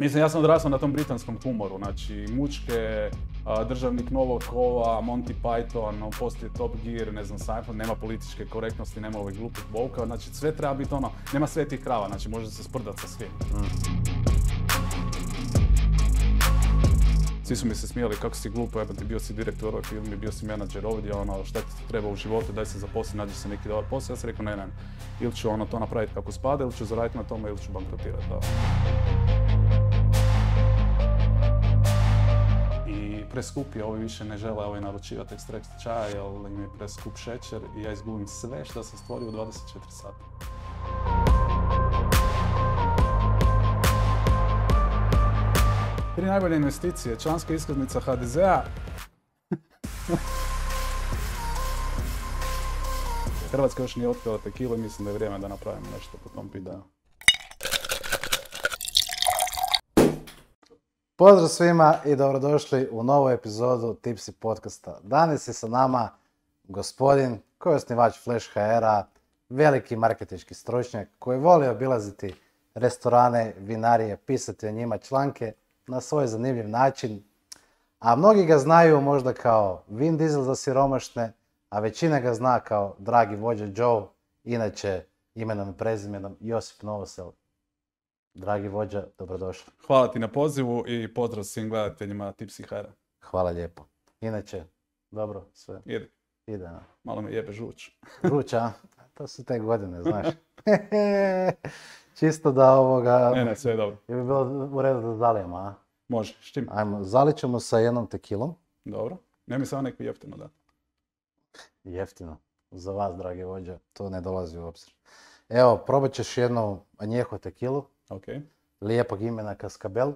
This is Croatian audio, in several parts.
Mislim, ja sam odrastao na tom britanskom humoru, znači mučke, državnik Novog kova, Monty Python, poslije Top Gear, ne znam, Seinfeld, nema političke korektnosti, nema ovih glupih bouka, znači sve treba biti ono, nema svetih krava, znači može se sprdati sa svim. Svi su mi se smijali kako si glupo, jebate, bio si direktor ovoj filmi, bio si menadžer ovdje, ono, šta ti treba u životu, daj se zaposli, nađi se neki dobar posao. Ja sam rekao ne, ili ću ono to napraviti kako spada, ili ću zaraditi na tome, ili ću bankrotirati, da. I preskupi, ovi više ne žele naručivati ekstrakt čaja, jer im je preskup šećer i ja izgubim sve što sam stvorio u 24 sata. Tri najbolje investicije, članska iskaznica HDZ-a. Hrvatska još nije otkrila tekilu i mislim da je vrijeme da napravimo nešto po tom pitanju. Pozdrav svima i dobrodošli u novu epizodu Tipsy podcasta. Danas je sa nama gospodin koji je osnivač Flash HR-a, veliki marketinški stručnjak koji voli obilaziti restorane, vinarije, pisati o njima članke na svoj zanimljiv način, a mnogi ga znaju možda kao Vin Diesel za siromašne, a većina ga zna kao dragi vođa Joe, inače imenom i prezimenom Josip Novosel. Dragi vođa, dobrodošli. Hvala ti na pozivu i pozdrav svim gledateljima Tipsy HR-a. Hvala lijepo. Inače, dobro, sve. Ide. A? Malo me jebe žuč. Žuč, a? To su te godine, znaš. Čisto da ovoga... Ne, sve je dobro. Je bi bilo u redu da zalijemo, a? Može, s čim? Ajmo, zalit ćemo sa jednom tekilom. Dobro. Ne mi samo neko jeftino da. Jeftino. Za vas, dragi vođa, to ne dolazi u obzir. Evo, probat ćeš jednu añejo tekilu. Okay. Lijepog imena Cascabel,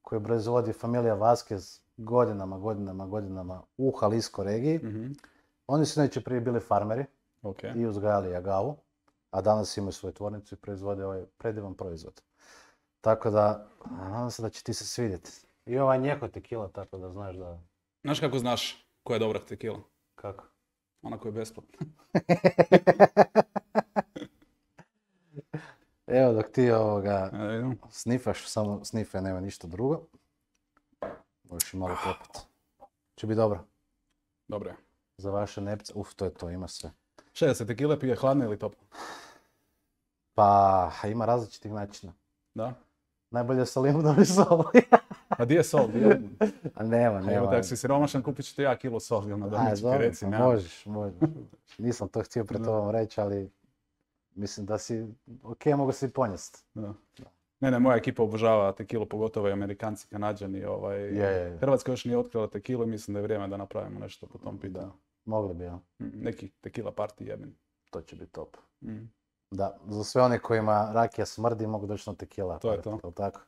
koju proizvodi familija Vasquez godinama u Jalisco regiji. Mm-hmm. Oni su neće prije bili farmeri i uzgajali agavu, a danas imaju svoju tvornicu i proizvode ovaj predivan proizvod. Tako da, nadam se da će ti se svidjeti. I ova añejo tekila, tako da znaš da... Znaš kako znaš koja je dobra tekila? Kako? Ona koja je besplatna. Evo dok ti snifaš, samo snifaj, nema ništa drugo. Možeš i malo popiti. Će biti dobro. Dobro je. Za vaše nepce, to je to, ima sve. Šta je, se tekile pije hladno ili toplo? Pa, ima različitih načina. Da? Najbolje sa limunom i sol. A di je sol? A nema. Evo, tako si siromašan, kupit ću ti ja kilo sol, ili na domaćici reci. Možeš. Nisam to htio pred tobom reći, ali... Mislim da si, mogu si ponijesti. Ne, moja ekipa obožava tekilu, pogotovo i Amerikanci, Kanađani. Hrvatska još nije otkrila tekilu i mislim da je vrijeme da napravimo nešto po tom pitanju. Mogli bi, ja. Neki tekila party jebim. To će biti top. Da, za sve one kojima rakija smrdi mogu doći na tekila. To je to. Tako?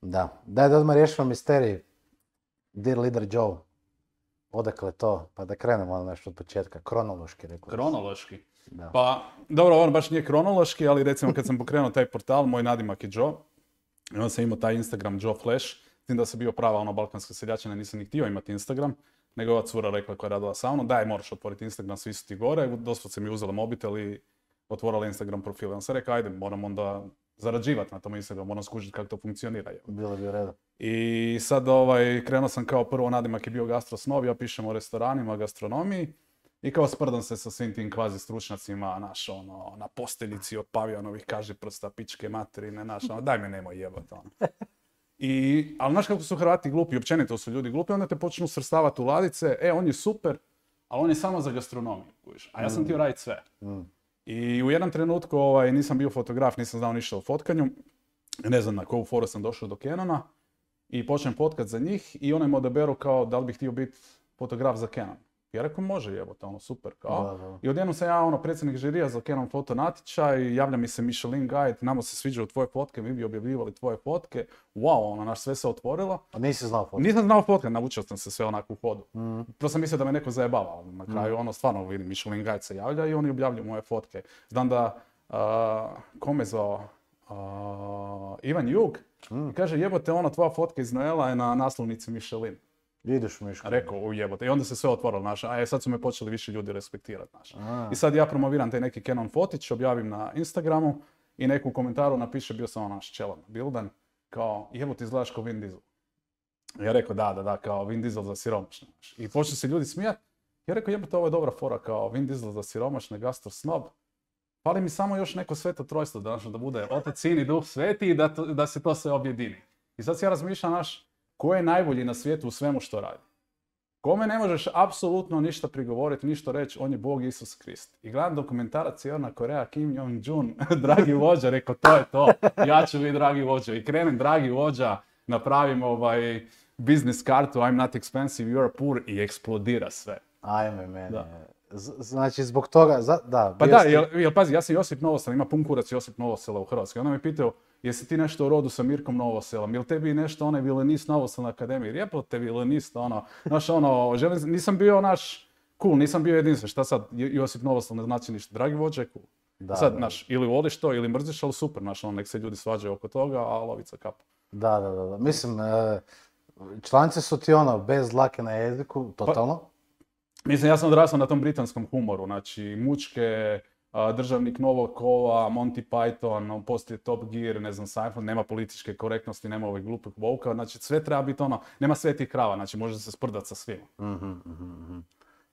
Da. Daj da odmah riješimo misterij. Dear Leader Joe. Odakle to? Pa da krenemo nešto od početka. Kronološki, rekao. Kronološki? Da. Pa, dobro, on baš nije kronološki, ali recimo kad sam pokrenuo taj portal, moj nadimak je Joe. I onda sam imao taj Instagram Joe Flash. S tim da sam bio prava balkanska seljačina, nisam ni htio imati Instagram. Nego ova cura rekla koja je radila sa mnom, daj, moraš otvoriti Instagram, svi su ti gore. Doslovce mi uzela mobitel i otvorila Instagram profil. On sam rekao, ajde, moram onda zarađivati na tom Instagramu, moram skužiti kako to funkcionira. Bilo bi u redu. I sad krenuo sam kao prvo, nadimak je bio gastrosnob, ja pišem o restoranima, gastronomiji. I kao sprdam se sa svim tim kvazi stručnjacima, na posteljici od pavijanovih kaži prsta, pičke materine, daj me nemoj jebat, ali znaš kako su Hrvati glupi, općenito su ljudi glupi, onda te počnu svrstavati u ladice, on je super, ali on je samo za gastronomiju, a ja sam htio raditi sve. I u jednom trenutku nisam bio fotograf, nisam znao ništa o fotkanju, ne znam na koju foru sam došao do Canona i počnem fotkat za njih i onaj me odaberu kao da li bih htio biti fotograf za Canon. Ja rekao, može jebote, super, kao. Da. I odjednom sam ja, predsjednik žirija za Canon foto natječaj, javlja mi se Michelin Guide, nama se sviđaju tvoje fotke, mi bi objavljivali tvoje fotke. Wow, naš sve se otvorilo. A nisi znao fotke? Nisam znao fotke, naučio sam se sve onako u hodu. To sam mislio da me neko zajebava, na kraju stvarno vidim, Michelin Guide se javlja i oni objavljuju moje fotke. Znam da, kome zvao, Ivan Jug, i kaže, jebote, tvoja fotka iz Noela je na naslovnici Michelin. Ideš Miško. Rekao, jebote. I onda se sve otvorilo, sad su me počeli više ljudi respektirati, I sad ja promoviram taj neki Canon fotić, objavim na Instagramu i neku komentaru napiše, bio sam čelan na Bildan. kao, jebo ti izgledaš kao Vin Diesel. Ja rekao, da, kao Vin Diesel za siromašne. I počeli se ljudi smijati. Ja rekao, jebote, ovo je dobra fora, kao Vin Diesel za siromašne, gastro snob. Fali mi samo još neko sveto trojstvo, da bude Otac, Sin i Duh Sveti i da se to sve objedini. I sad si ja razmišljam, ko je najbolji na svijetu u svemu što radi? Kome ne možeš apsolutno ništa prigovoriti, ništa reći, on je Bog Isus Krist. I gledam dokumentarac Sjeverna Koreja, Kim Jong-un, dragi vođa, rekao, to je to, ja ću biti dragi vođa. I krenem, dragi vođa, napravim biznis kartu, I'm not expensive, you are poor, i eksplodira sve. Ajme meni. Znači, zbog toga, da. Pa da, jel pazi, ja sam Josip Novosel, ima pun kurac Josip Novosela u Hrvatskoj. Onda me pitao, jesi ti nešto u rodu sa Mirkom Novoselom? Jel tebi nešto onaj vilenist Novosel na akademiji? Rijepo te vilenist, nisam bio cool, nisam bio jedinstven. Šta sad, Josip Novosel ne znači ništa. Dragi vođa je cool. Sad, ili voliš to, ili mrziš, ali super, nek se ljudi svađaju oko toga, a lovica kapa. Da. Mislim, članci su ti bez dlake na jeziku, totalno. Mislim, ja sam odrastao na tom britanskom humoru, znači mučke, Državnik Novog kova, Monty Python, poslije Top Gear, ne znam, Seinfeld, nema političke korektnosti, nema ovih glupih voka, znači sve treba biti nema svetih krava, znači može se sprdati sa svima.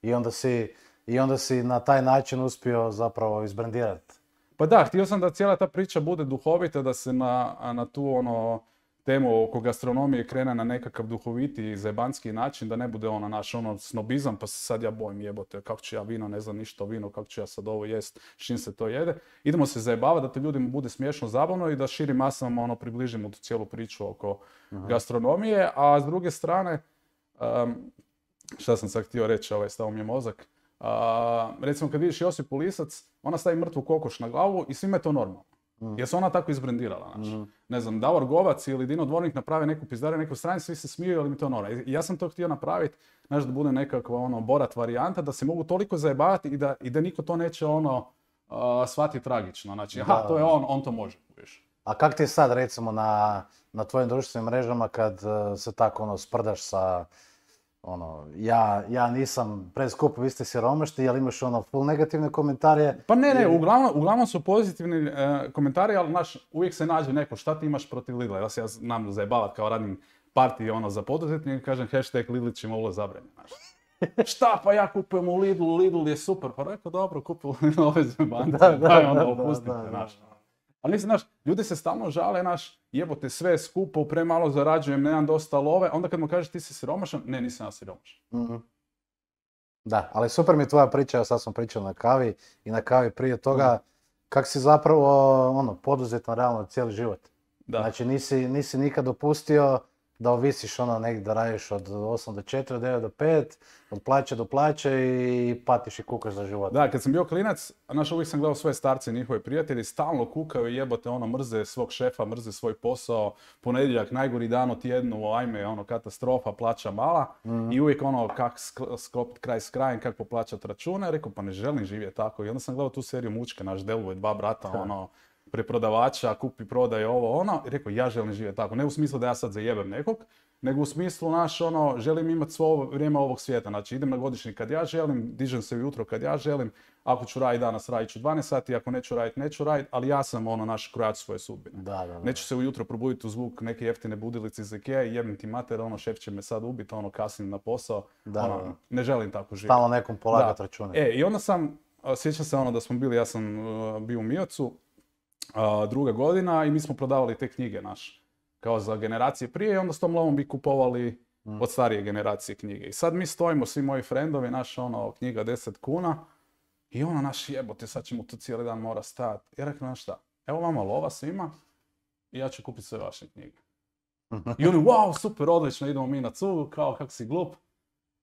I onda si na taj način uspio zapravo izbrendirati. Pa da, htio sam da cijela ta priča bude duhovita, da se na tu temu oko gastronomije krene na nekakav duhoviti, zajebanski način, da ne bude naš snobizam, pa se sad ja bojim, jebote, kako ću ja vino, ne znam ništa o vinu, kako ću ja sad ovo jest, s čim se to jede. Idemo se zajebavati da te ljudima bude smiješno, zabavno i da širim masama približimo tu cijelu priču oko gastronomije, a s druge strane, šta sam sad htio reći, stao mi je mozak, recimo kad vidiš Josipu Lisac, ona stavi mrtvu kokoš na glavu i svima je to normalno. Jer se ona tako izbrendirala, Ne znam, Davor Govac ili Dino Dvornik naprave neku pizdariju, neku stranicu, svi se smiju, ali mi to normalno. I ja sam to htio napraviti, da bude nekakva Borat varijanta, da se mogu toliko zajebavati i da niko to neće shvatiti tragično. Znači, to je on to može. A kak ti je sad, recimo, na tvojim društvenim mrežama kad se tako sprdaš sa ja nisam preskup, vi ste siromašni, ali imaš full negativne komentare? Pa ne, uglavnom su pozitivni komentari, ali uvijek se nađe neko, šta ti imaš protiv Lidla? Ja se znam zajebavat kao radim partiji za poduzetnike, kažem hashtag Lidlićima ule zabranjeno. Šta, pa ja kupujem u Lidlu, Lidl je super, pa rekao dobro, kupujem ove zebance, daj onda opustite, Ali mislim, ljudi se stalno žale, jebote, sve je skupo, premalo zarađujem, nemam dosta love, onda kad mu kažeš ti si siromašan, ne, nisam ja siromašan. Da, ali super mi je tvoja priča, sad smo pričali na kavi i na kavi prije toga, kak si zapravo poduzetan realno cijeli život. Da. Znači nisi nikad dopustio da ovisiš negdje da radiš od 8 do 4, od 9 do 5, od plaće do plaće i patiš i kukaš za život. Da, kad sam bio klinac, uvijek sam gledao svoje starce i njihove prijatelji, stalno kukaju i jebote, mrze svog šefa, mrze svoj posao, ponedjeljak, najgori dan u tjednu, ajme, katastrofa, plaća mala i uvijek kak sklopiti kraj s krajem, kako poplaćati račune, rekao pa ne želim živjeti tako i onda sam gledao tu seriju Mučke, naš Delvoje, dva brata, preprodavača, kupi, prodaj i rekao ja želim živjeti tako. Ne u smislu da ja sad zajebem nekog, nego u smislu želim imati svo vrijeme ovog svijeta. Znači idem na godišnji kad ja želim, dižem se ujutro kad ja želim, ako ću raditi danas radit ću 12 sati, ako neću raditi, ali ja sam krojač svoje sudbine. Da. Neću se ujutro probuditi u zvuk neke jeftine budilice iz Ikea i jebim ti mater, šef će me sad ubiti, kasnim na posao. Ne želim tako živjeti. Stalno nekom polagat račune. I onda sjećam se da smo bili, ja sam bio u Miocu, druga godina i mi smo prodavali te knjige kao za generacije prije i onda s tom lovom bi kupovali od starije generacije knjige. I sad mi stojimo, svi moji frendovi, knjiga 10 kuna i jebote, sad ćemo tu cijeli dan mora stajati. I rekao, šta, evo vama lova svima i ja ću kupiti sve vaše knjige. I oni, wow, super, odlično, idemo mi na cugu, kao kako si glup.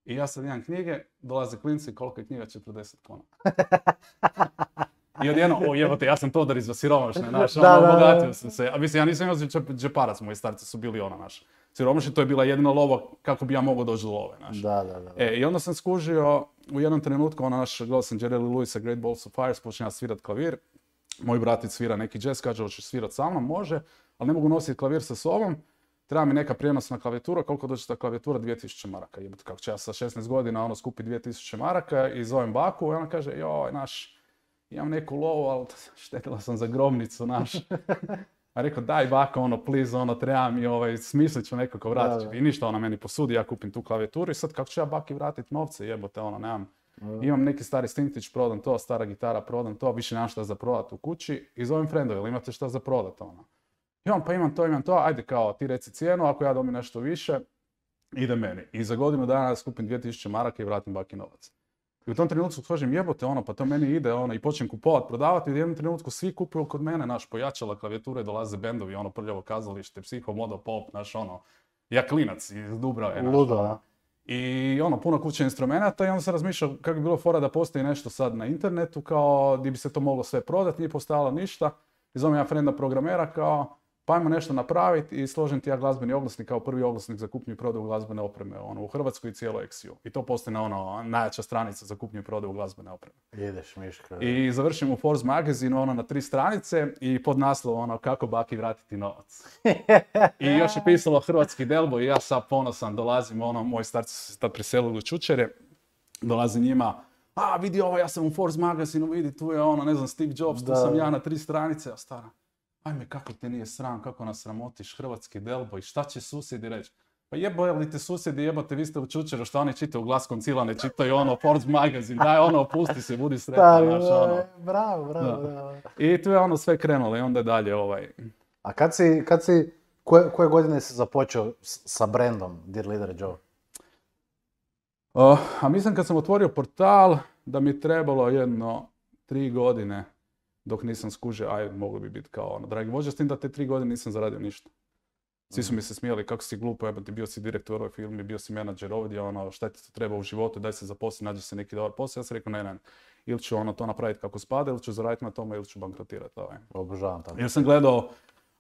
I ja sad imam knjige, dolaze klinci, koliko je knjiga? 40 kuna. I odjedno, jebote, ja sam Todor iz siromašne, obogatio sam se. A mislim, ja nisam imao džeparac, moji starci su bili siromašni, to je bila jedina lova kako bi ja mogao doći do love, I onda sam skužio, u jednom trenutku, gledao sam Jerry Lee Lewisa, Great Balls of Fire, počinja svirat klavir. Moj bratic svira neki jazz, kaže, hoćeš svirat sa mnom, može, ali ne mogu nositi klavir sa sobom. Treba mi neka prijenosna klavijatura, koliko dođe ta klavijatura? 2000 maraka. Jebote, kako će ja sa 16 godina skupi 2000 maraka i zovem baku i ona kaže, joj, imam neku lovu, ali štetila sam za grobnicu, A rekao, daj baka, ono, please, ono, treba mi, smislit ću nekako vratit. Da. I ništa, ona meni posudi, ja kupim tu klavijaturu i sad kako ću ja baki vratit novce, jebote, ono, nemam. Imam neki stari Stintić, prodam to, stara gitara, prodam to, više nemam šta za prodat u kući i zovem friendove, ili imate šta za prodat, ono. I on, pa imam to, ajde kao, ti reci cijenu, ako ja dobijem nešto više, ide meni. I za godinu dana skupim 2000 maraka i vratim baki novac. I u tom trenutku kažem, jebote, ono, pa to meni ide, ono, i počnem kupovat, prodavati, i u jednom trenutku svi kupuju kod mene, naš, pojačala klavijature, dolaze bendovi, ono, Prljavo kazalište, Psiho, Modo, Pop, naš, ono, ja klinac iz Dubrave, naš, Ludo, ono. I ono, puno kuće instrumenta i onda sam razmišljao kako bi bilo fora da postoji nešto sad na internetu, kao gdje bi se to moglo sve prodati, nije postojalo ništa. I zovem ja frenda programera kao, pa ajmo nešto napraviti i složim ti ja glazbeni oglasnik kao prvi oglasnik za kupnju i prodaju glazbene opreme, ono, u Hrvatskoj i cijeloj Exiju. I to postoji na ono, najjača stranica za kupnju i prodaju glazbene opreme. Jedeš miška. I završim u Forbes magazinu, ono, na 3 stranice i pod naslov, ono, kako baki vratiti novac. I još je pisalo hrvatski Delbo i ja sad ponosan dolazim, ono, moji starci su se tad preselili u Čučere, dolazi njima, a vidi ovo, ja sam u Forbes magazinu, vidi, tu je ono, ne znam, Steve Jobs, tu sam ja na 3 stranice, a stara, ajme, kako te nije sram, kako nas sramotiš, hrvatski Delbo i šta će susjedi reći? Pa jebojali te susjedi, jebote, vi ste u Čučeru, šta oni čitaju, Glas Koncila ne čitaju, ono, Forbes magazin, daj ono, opusti se, budi sretan, znaš, ono. Bravo. I tu je ono sve krenulo i onda je dalje A koje godine si započeo sa brandom Dear Leader Joe? A mislim kad sam otvorio portal da mi je trebalo 3 godine dok nisam skužio, moglo bi biti kao ono, dragi vođa, s tim da te 3 godine nisam zaradio ništa. Svi su mi se smijeli, kako si glupo, jebati, bio si direktor u ovoj firmi, bio si menadžer ovdje, ono, šta ti to treba u životu, daj se zaposli, nađi se neki dobar posao. Ja sam rekao, ne, ili ću ono to napraviti kako spada, ili ću zaraditi na tome, ili ću bankrotirati. Obožavam tako. Jer sam gledao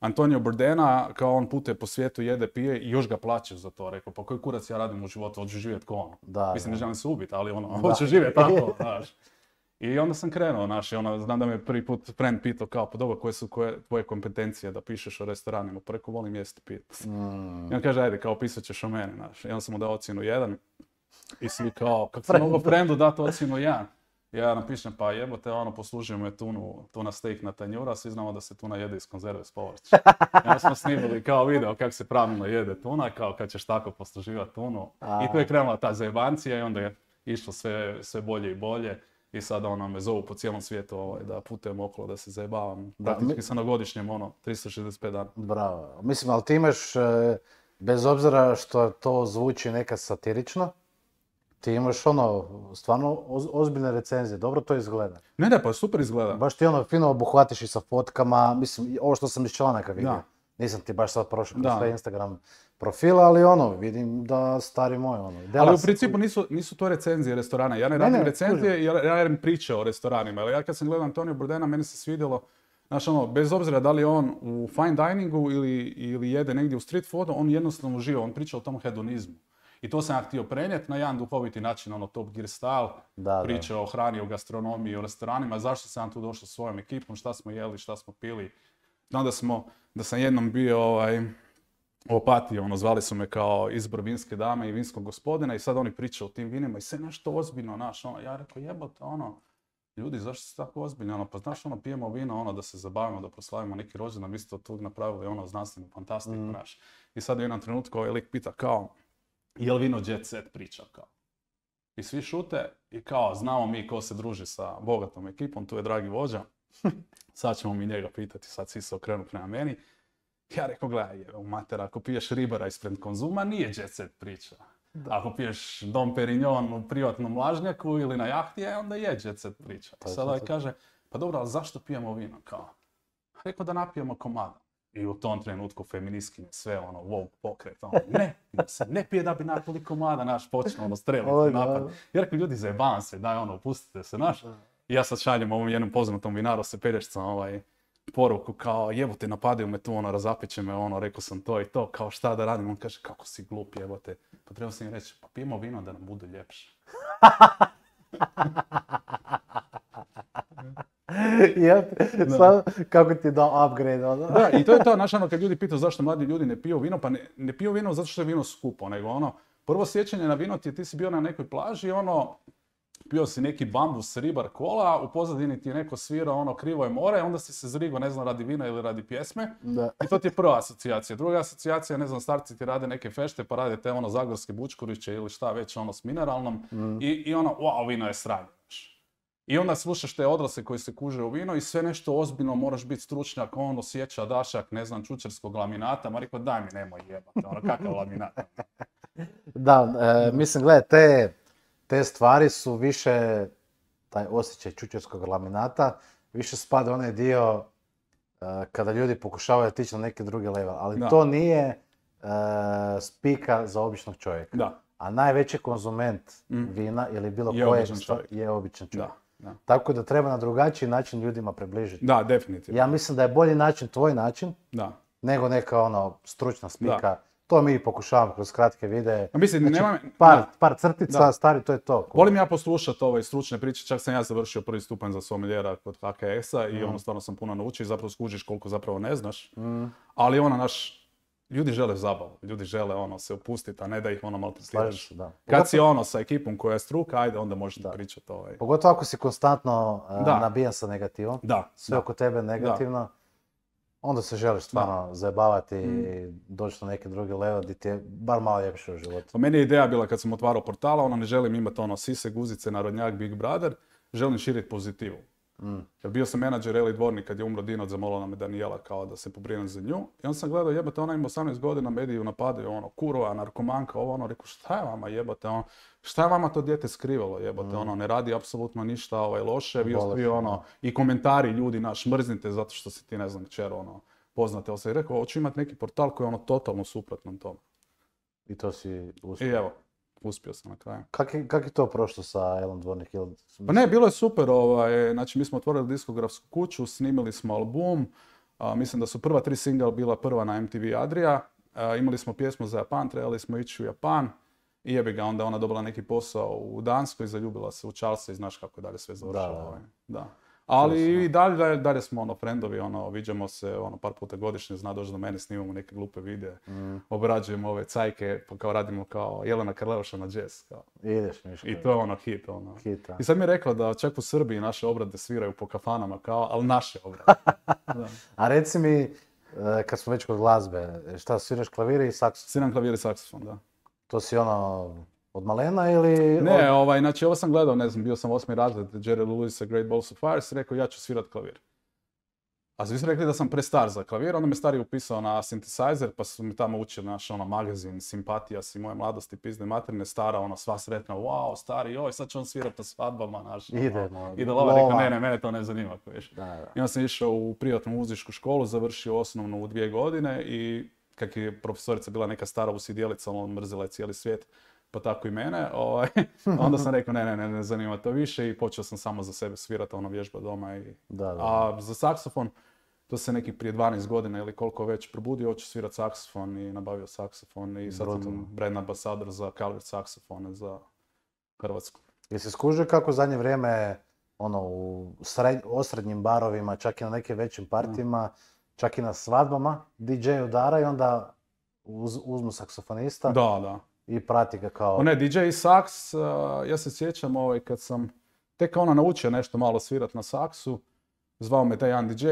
Antonio Bourdaina, kao on putuje po svijetu, jede, pije i još ga plaćaju za to. Rekao, pa koji kurac ja radim u životu, hoću živjeti ko ono. Mislim, ne želim se ubiti, ali ono, hoću živjeti tako, znaš. I onda sam krenuo, znaš, znam da me prvi put friend pitao kao, pa dobro, koje su tvoje kompetencije da pišeš o restoranima, pa rekao, volim jesti pit. I on kaže, ajde, kao pisat ćeš o mene, znaš. I onda sam mu dao ocjenu 1 i svi kao, kako sam mogao friendu dati ocjenu 1? Ja napišem, pa jebote, ono, poslužujemo je tuna steak na tanjura, svi znamo da se tuna jede iz konzerve s povrćem. I onda smo snimili kao video kako se pravilno jede tuna, kao kad ćeš tako posluživati tunu. I tu je krenula ta zajebancija i onda je išlo sve bolje i bolje. I sada ono me zovu po cijelom svijetu da putujem okolo, da se zajebavam. Praktički sam na godišnjem 365 dana. Bravo. Mislim, ali ti imaš, bez obzira što to zvuči nekad satirično, ti imaš stvarno ozbiljne recenzije, dobro to izgleda. Ne, pa super izgleda. Baš ti fino obuhvatiš i sa fotkama, mislim, ovo što sam iz članaka vidio. Da. Nisam ti baš sad prošao kroz sve Instagram profila, ali vidim da stari moj, Ali u principu nisu to recenzije restorana. Ja ne radim recenzije, ja radim priče o restoranima. Ali ja kad sam gledao Antonio Bourdaina, meni se svidjelo, znaš bez obzira da li je on u fine diningu ili jede negdje u street foodu, on jednostavno uživa, on priča o tom hedonizmu. I to sam ja htio prenijeti na jedan duhoviti način, Top Gear style, priče o hrani, o gastronomiji, o restoranima, zašto sam tu došao s svojom ekipom, šta smo jeli, šta smo pili. Znam da sam jednom bio u Opatiji, zvali su me kao izbor vinske dame i vinskog gospodina i sad oni pričaju o tim vinima i sve nešto ozbiljno, ja rekao jebote, ljudi, zašto ste tako ozbiljni, pa znaš, pijemo vino, da se zabavimo, da proslavimo neki rođendan, vi ste od tog napravili, znanstvenu fantastiku, znaš. I sad u jednom trenutku ovaj lik pita kao, je li vino jet set priča, kao. I svi šute i kao, znamo mi ko se druži sa bogatom ekipom, tu je dragi vođa, sad ćemo mi njega pitati, sad svi se okrenu prema meni. Ja rekao, gledaj, mater, ako piješ ribara ispred Konzuma, nije jet set priča. Ako piješ Dom Perignon u privatnom lažnjaku ili na jahti, onda je jet set priča. Sada kaže, pa dobro, ali zašto pijemo vino? Kao, rekao da napijemo komada. I u tom trenutku feministkinje sve woke pokret, ne pije da bi napili komada, naš počne streliti napad. Ja rekao, ljudi, zajebavam se, daj pustite se, naš. I ja sad šaljem ovom jednom poznatom vinaru se pelješcom poruku kao jebote, napadaju me tu, razapiće me, rekao sam to i to, kao šta da radim, on kaže kako si glup jebote, pa treba sam im reći, pa pijemo vino da nam bude ljepše. Kako ti je dao upgrade, Da, i to je to, znaš, kad ljudi pitaju zašto mladi ljudi ne piju vino, pa ne piju vino zato što je vino skupo, nego prvo sjećanje na vino ti si bio na nekoj plaži, pio si neki bambus ribar kola, u pozadini ti je neko svirao ono Krivo je more, onda si se zrigo, ne znam, radi vina ili radi pjesme. Da. I to ti je prva asocijacija. Druga asocijacija, ne znam, starci ti rade neke fešte, pa rade te ono zagorske bučkuriće ili šta već ono s mineralnom. I ono, wow, vino je sranje. I onda slušaš te odrasle koji se kuže u vino i sve nešto ozbiljno, moraš biti stručnjak, ono sjeća dašak, ne znam, čučerskog laminata, ma rekao daj mi nemoj jebati, ono kakav laminat. Da, mislim, gledaj, te stvari su više, taj osjećaj čučerskog laminata, više spada onaj dio kada ljudi pokušavaju otići na neki drugi level, ali Da. to nije spika za običnog čovjeka. Da. A najveći konzument vina ili bilo Je koje običan čovjek. je običan čovjek. Da. Tako da treba na drugačiji način ljudima približiti. Da, definitivno. Ja mislim da je bolji način tvoj način Da. nego neka ono stručna spika. To mi pokušavamo kroz kratke videe. A mislim, Znači, nema... par crtica, Da. stari, to je to. Volim ja poslušati ove stručne priče, čak sam ja završio prvi stupanj za sommeliera kod HKS-a i ono stvarno sam puno naučio i zapravo skužiš koliko zapravo ne znaš. Ali ono ljudi žele zabavu, ljudi žele ono se opustiti, a ne da ih ono malo Slažem pretiraš. se, da. Kad si ono sa ekipom koja je struka, ajde onda možete pričati ovaj. Pogotovo ako si konstantno Da. nabijan sa negativom, Da, sve oko tebe negativno, onda se želiš stvarno zajebavati i doći na neki drugi level gdje ti je bar malo ljepše u životu. Pa meni je ideja bila kad sam otvarao portala, ono ne želim imati ono sise, guzice, narodnjak, Big Brother, želim širiti pozitivu. Jer bio sam menadžer Eli Dvornik kad je umro Dino, zamolila me Danijela kao da se pobrinem za nju. I onda sam gledao, jebate, ona ima 18 godina, mediju napadaju, ono, kurva, narkomanka, ovo, ono, rekao, šta je vama, jebate, ono, šta je vama to dijete skrivalo, jebate, ono, ne radi apsolutno ništa loše, vi ono, i komentari ljudi, mrznite zato što si ti, ne znam, kćer, ono, poznate, ali sam i rekao, hoću imati neki portal koji je ono totalno suprotno tome. I to si uspio. I evo, uspio sam na kraju. Kak je to prošlo sa Elom Dvornik? Pa ne, bilo je super, znači mi smo otvorili diskografsku kuću, snimili smo album, mislim da su prva 3 single bila prva na MTV Adria, imali smo pjesmu za Japan, trebali smo ići u Japan i jebi ga, onda ona dobila neki posao u Danskoj, zaljubila se u Charlesa i znaš kako je dalje sve završilo. Da. Ali i dalje smo ono frendovi, ono, viđamo se ono par puta godišnje, zna doći do mene, snimamo neke glupe videe, obrađujemo ove cajke, pa kao radimo kao Jelena Karleuša na jazz. Kao. Ideš, Miško. I to je ono hit, ono. Hita. I sad mi je rekla da čak u Srbiji naše obrade sviraju po kafanama, kao, ali naše obrade. Da. A reci mi, kad smo već kod glazbe, šta sviraš klavire i saksofon? Sviram klavir i saksofon, da. To si ono od malena ili... Ne, znači ovo sam gledao, ne znam, bio sam 8. razred Jerry Lewis Great Balls of Fire, si rekao ja ću svirat klavir. A svi su rekli da sam prestar za klavir, onda me stariji upisao na synthesizer, pa su mi tamo učili naš ono magazin, Simpatija si moje mladosti, pizne materine, stara, ono sva sretna, wow, stari, joj, sad će on svirat na svadbama, naš. Idemo. I da lova rekao, ne, mene to ne zanima, viš. Da. I onda sam išao u privatnu muzičku školu, završio osnovnu u 2 godine i kak je profesorica bila neka stara usjedjelica, ono mrzila je cijeli svijet, pa tako i mene, onda sam rekao ne zanima to više i počeo sam samo za sebe svirati, ono vježba doma. A za saksofon, to se neki prije 12 godina ili koliko već probudio, hoću svirati saksofon i nabavio saksofon i sad sam brand ambasador za Calvert saksofone za Hrvatsku. Jesi skužio kako zadnje vrijeme ono, u osrednjim barovima, čak i na nekim većim partijima, čak i na svadbama, DJ udara i onda uzmu saksofonista. Da. I prati ga kao... Ne, DJ i saks, ja se sjećam kad sam tek naučio nešto malo svirat na saksu, zvao me taj jedan DJ,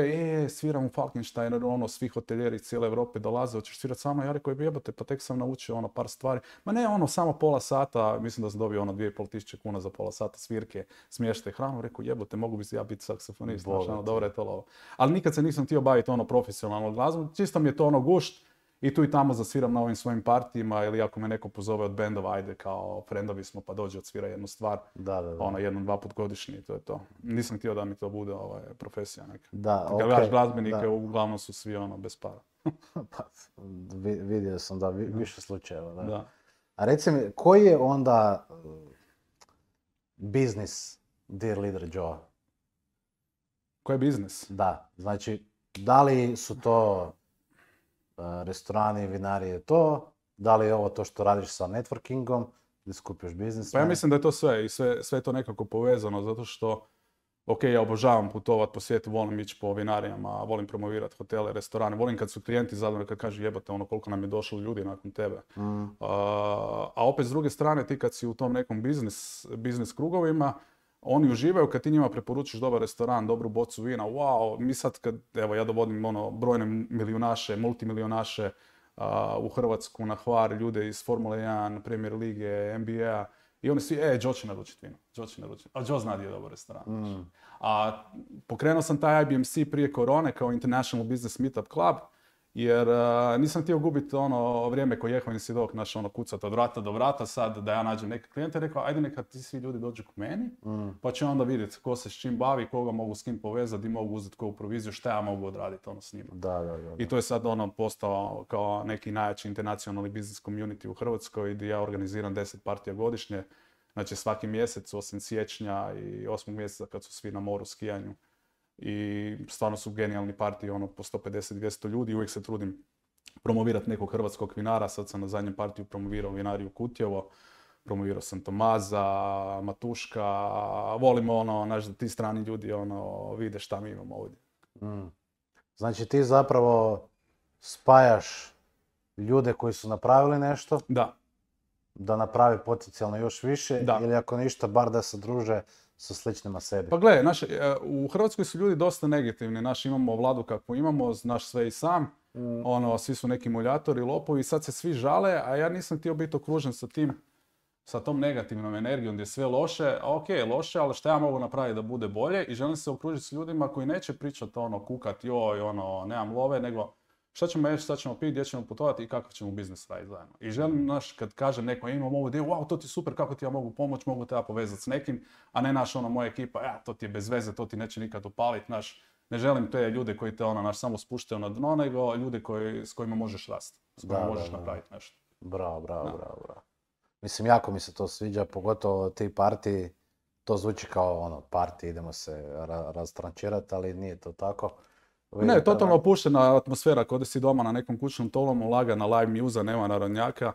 sviram u Falkensteinu, ono, svi hotelijeri iz cijele Europe dolaze, hoćeš svirat sa mnom, ja rekao, jebate, pa tek sam naučio par stvari. Ma ne, samo pola sata, mislim da sam dobio 2.500 kuna za pola sata svirke, smještaj, hranu, rekao, jebote, mogu bi ja biti saksofonist, dobro je to lovo. Ali nikad se nisam htio baviti profesionalnom glazbom, čisto mi je to gušt. I tu i tamo zasviram na ovim svojim partijima ili ako me neko pozove od bendova, ajde kao frendovi smo pa dođe odsvira jednu stvar, jednom, 2 put godišnji i to je to. Nisam htio da mi to bude profesija neka. Kad gledaš glazbenike, uglavnom su svi bez para. Pa, vidio sam više slučajeva. Da. A reci mi, koji je onda biznis Dear Leader Joe? Koji je biznis? Da, znači, da li su to restorani, vinarije, to, da li je ovo to što radiš sa networkingom, gdje skupiš biznis? Pa ja mislim da je to sve i sve je to nekako povezano, zato što Ok, ja obožavam putovat po svijetu, volim ići po vinarijama, volim promovirati hotele, restorane, volim kad su klijenti zadovoljni, kad kažu jebate ono koliko nam je došlo ljudi nakon tebe. A opet s druge strane ti kad si u tom nekom biznis krugovima, oni uživaju kad ti njima preporučiš dobar restoran, dobru bocu vina, wow, mi sad kad, evo ja dovodim ono brojne milijunaše, multimilijunaše u Hrvatsku na Hvar, ljude iz Formule 1, Premier Lige, NBA, i oni svi, Joe će naručiti vino, a Joe zna gdje je dobar restoran. A pokrenuo sam taj IBMC prije korone kao International Business Meetup Club, jer nisam htio gubiti ono vrijeme koji Jehovin svjedok, naš ono kucat od vrata do vrata, sad da ja nađem neke klijente, rekao ajde neka ti svi ljudi dođu k meni, pa ću onda vidjeti ko se s čim bavi, koga mogu s kim povezati, di mogu uzeti koju proviziju, šta ja mogu odraditi ono s njima. Da. I to je sad ono postao kao neki najjači internacionalni business community u Hrvatskoj, gdje ja organiziram 10 partija godišnje, znači svaki mjesec, osim siječnja i 8. mjeseca kad su svi na moru skijanju. I stvarno su genijalni partiji, ono po 150-200 ljudi, uvijek se trudim promovirati nekog hrvatskog vinara, sad sam na zadnjem partiju promovirao vinariju Kutjevo, promovirao sam Tomaza, Matuška, volimo ono, znaš da ti strani ljudi ono, vide šta mi imamo ovdje. Znači ti zapravo spajaš ljude koji su napravili nešto, da napravi potencijalno još više, ili ako ništa, bar da se druže sa sličnima sebi. Pa gledaj, u Hrvatskoj su ljudi dosta negativni, imamo vladu kakvu imamo, znaš sve i sam, svi su neki muljatori, lopovi, sad se svi žale, a ja nisam htio biti okružen sa tom negativnom energijom gdje je sve loše, ok, loše, ali šta ja mogu napraviti da bude bolje i želim se okružiti s ljudima koji neće pričati kukat, joj, nemam love, nego šta ćemo jeći, šta ćemo piti, gdje ćemo putovati i kakav ćemo biznis raditi zajedno. I želim, kad kaže neko, imam ovu ideju, wow, to ti je super, kako ti ja mogu pomoći, mogu te ja povezati s nekim, a ne moja ekipa, to ti je bez veze, to ti neće nikad upaliti, ne želim te ljude koji te samo spuštaju na dno, nego ljude s kojima možeš rasti, s kojima možeš napraviti nešto. Bravo. Mislim, jako mi se to sviđa, pogotovo ti partiji, to zvuči kao partiji, idemo se rastrančirati, ali nije to tako. Ne, totalno opuštena atmosfera, kod si doma na nekom kućnom tolomu, lagana live muza, nema narodnjaka,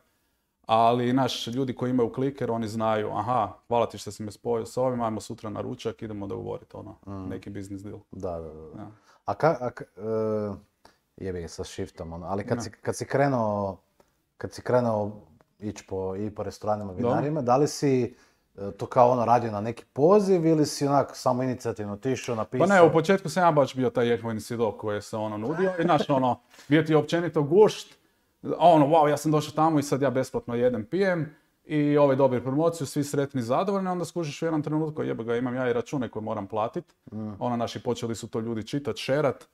ali ljudi koji imaju kliker, oni znaju, aha, hvala ti što si me spojio s ovim, ajmo sutra na ručak, idemo dogovoriti neki business deal. Da. A jebi ga sa shiftom, ali kad si krenuo ići po restoranima, vinarima, da li si to kao radio na neki poziv ili si onako samo inicijativno otišao, napisao? Pa ne, u početku sam ja baš bio taj Jehovin svjedok koji se nudio i bio ti općenito gušt, wow, ja sam došao tamo i sad ja besplatno jedem, pijem i dobiju promociju, svi sretni, zadovoljni, onda skužiš u jednom trenutku, imam ja i račune koje moram platiti, naši počeli su to ljudi čitati, šerat.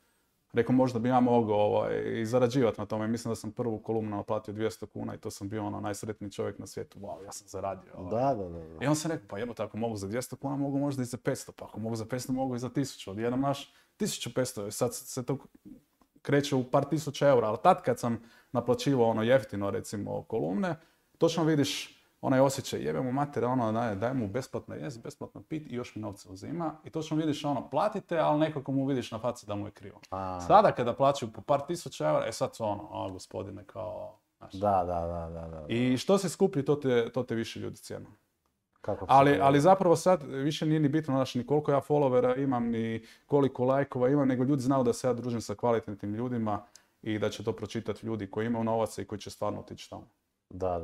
Rekao, možda bi ja mogao i zarađivati na tome. Mislim da sam prvu kolumnu naplatio 200 kuna i to sam bio najsretniji čovjek na svijetu. Wow, ja sam zaradio. Da. I on sam rekao, pa jebote, ako mogu za 200 kuna, mogu možda i za 500. Pa ako mogu za 500, mogu i za 1000. Odjednom 1500. Sad se to kreće u par tisuća eura. Ali tad kad sam naplaćivao jeftino, recimo, kolumne, točno vidiš onaj osjećaj, jebemo mater, daj mu besplatno jest, besplatno pit i još mi novce uzima. I točno vidiš platite, ali nekako mu vidiš na faci da mu je krivo. Sada kada plaćaju po par tisuća eura, sad su gospodine, kao... Da. I što se skuplji, to te više ljudi cijenu. Ali zapravo sad više nije ni bitno, ni koliko ja followera imam, ni koliko lajkova imam, nego ljudi znaju da se ja družim sa kvalitetnim ljudima i da će to pročitati ljudi koji imaju novaca i koji će stvarno otići tamo. Da.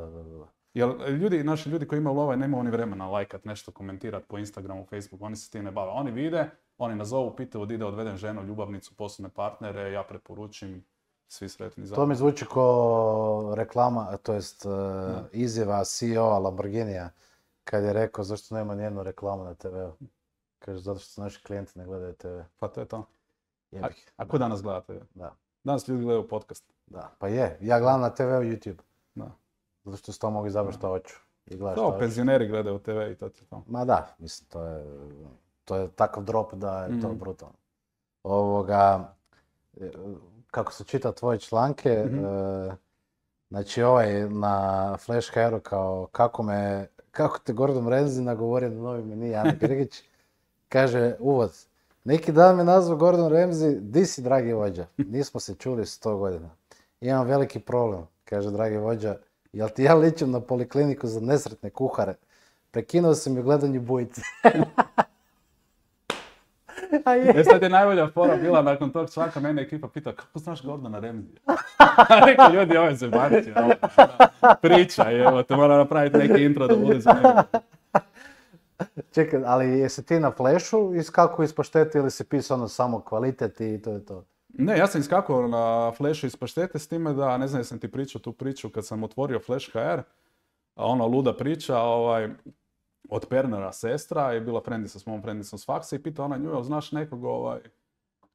Jer naši ljudi koji imaju lova nemaju oni vremena lajkat nešto, komentirati po Instagramu, Facebooku, oni se tim ne bave. Oni vide, oni nazovu, pitaju od ide odvedem ženu, ljubavnicu, poslovne partnere, ja preporučim, svi sretni zajedno. To mi zvuči kao reklama, to jest izjava CEO-a Lamborghinija, kad je rekao zašto nema nijednu reklamu na TV-u. Kaže, zato što naši klijenti ne gledaju TV. Pa to je to. A ko danas gleda TV? Da. Danas ljudi gledaju podcast. Da, pa je. Ja gledam na TV-u YouTube. Da. Zato što s to mogu izabrati što hoću. To, penzioneri gledaju TV i to je to. Ma da, mislim, to je takav drop da je to brutalno. Kako se čita tvoje članke, znači na Flash HR-u kao kako te Gordon Ramsay nagovorio na novi meni, Ana Grgić, kaže uvod. Neki dan me nazvao Gordon Ramsay, di si dragi vođa? Nismo se čuli 100 godina. Imam veliki problem, kaže dragi vođa, jel ti ja ličim na polikliniku za nesretne kuhare? Prekinuo sam je gledanju Bujice. Sad je najbolja fora bila nakon tog članka, mene ekipa pita kako znaš Gordona Ramsaya? Rekao, ljudi, ovo je zebancija. Priča, evo, te mora napraviti neki intro da bude za njega. Čekaj, ali jesi ti na Flashu iskako iz paštete ili si pisao ono samo kvalitet i to je to? Ne, ja sam iskakao na Flashu iz paštete s time da, ne znam jesam ti pričao tu priču kad sam otvorio Flash HR, ono luda priča, od Pernera sestra je bila frendica s mojom frendicom s faksa i pita ona nju, jel znaš nekog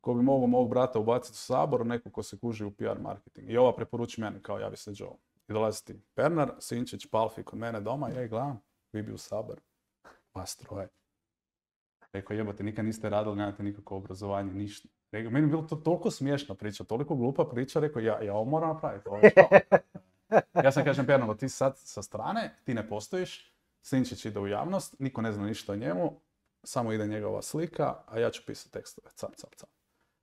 ko bi mogao mog brata ubaciti u Sabor, nekog ko se kuži u PR marketing. I ova preporuči meni kao javi se Joe. I dolazi ti Pernar, Sinčić, Palfi kod mene doma, ja ih gledam, vi bi u Sabor. Vas troje. Rekao, jebote, nikad niste radili, nemate nikakvo obrazovanje, ništa. Rekao, meni je bilo to toliko smiješna priča, toliko glupa priča, rekao, ja ovo moram napraviti. Ovo je ja sam kažem Pernaru, ti sad sa strane, ti ne postojiš, Sinčić ide u javnost, niko ne zna ništa o njemu, samo ide njegova slika, a ja ću pisati tekstove, cap.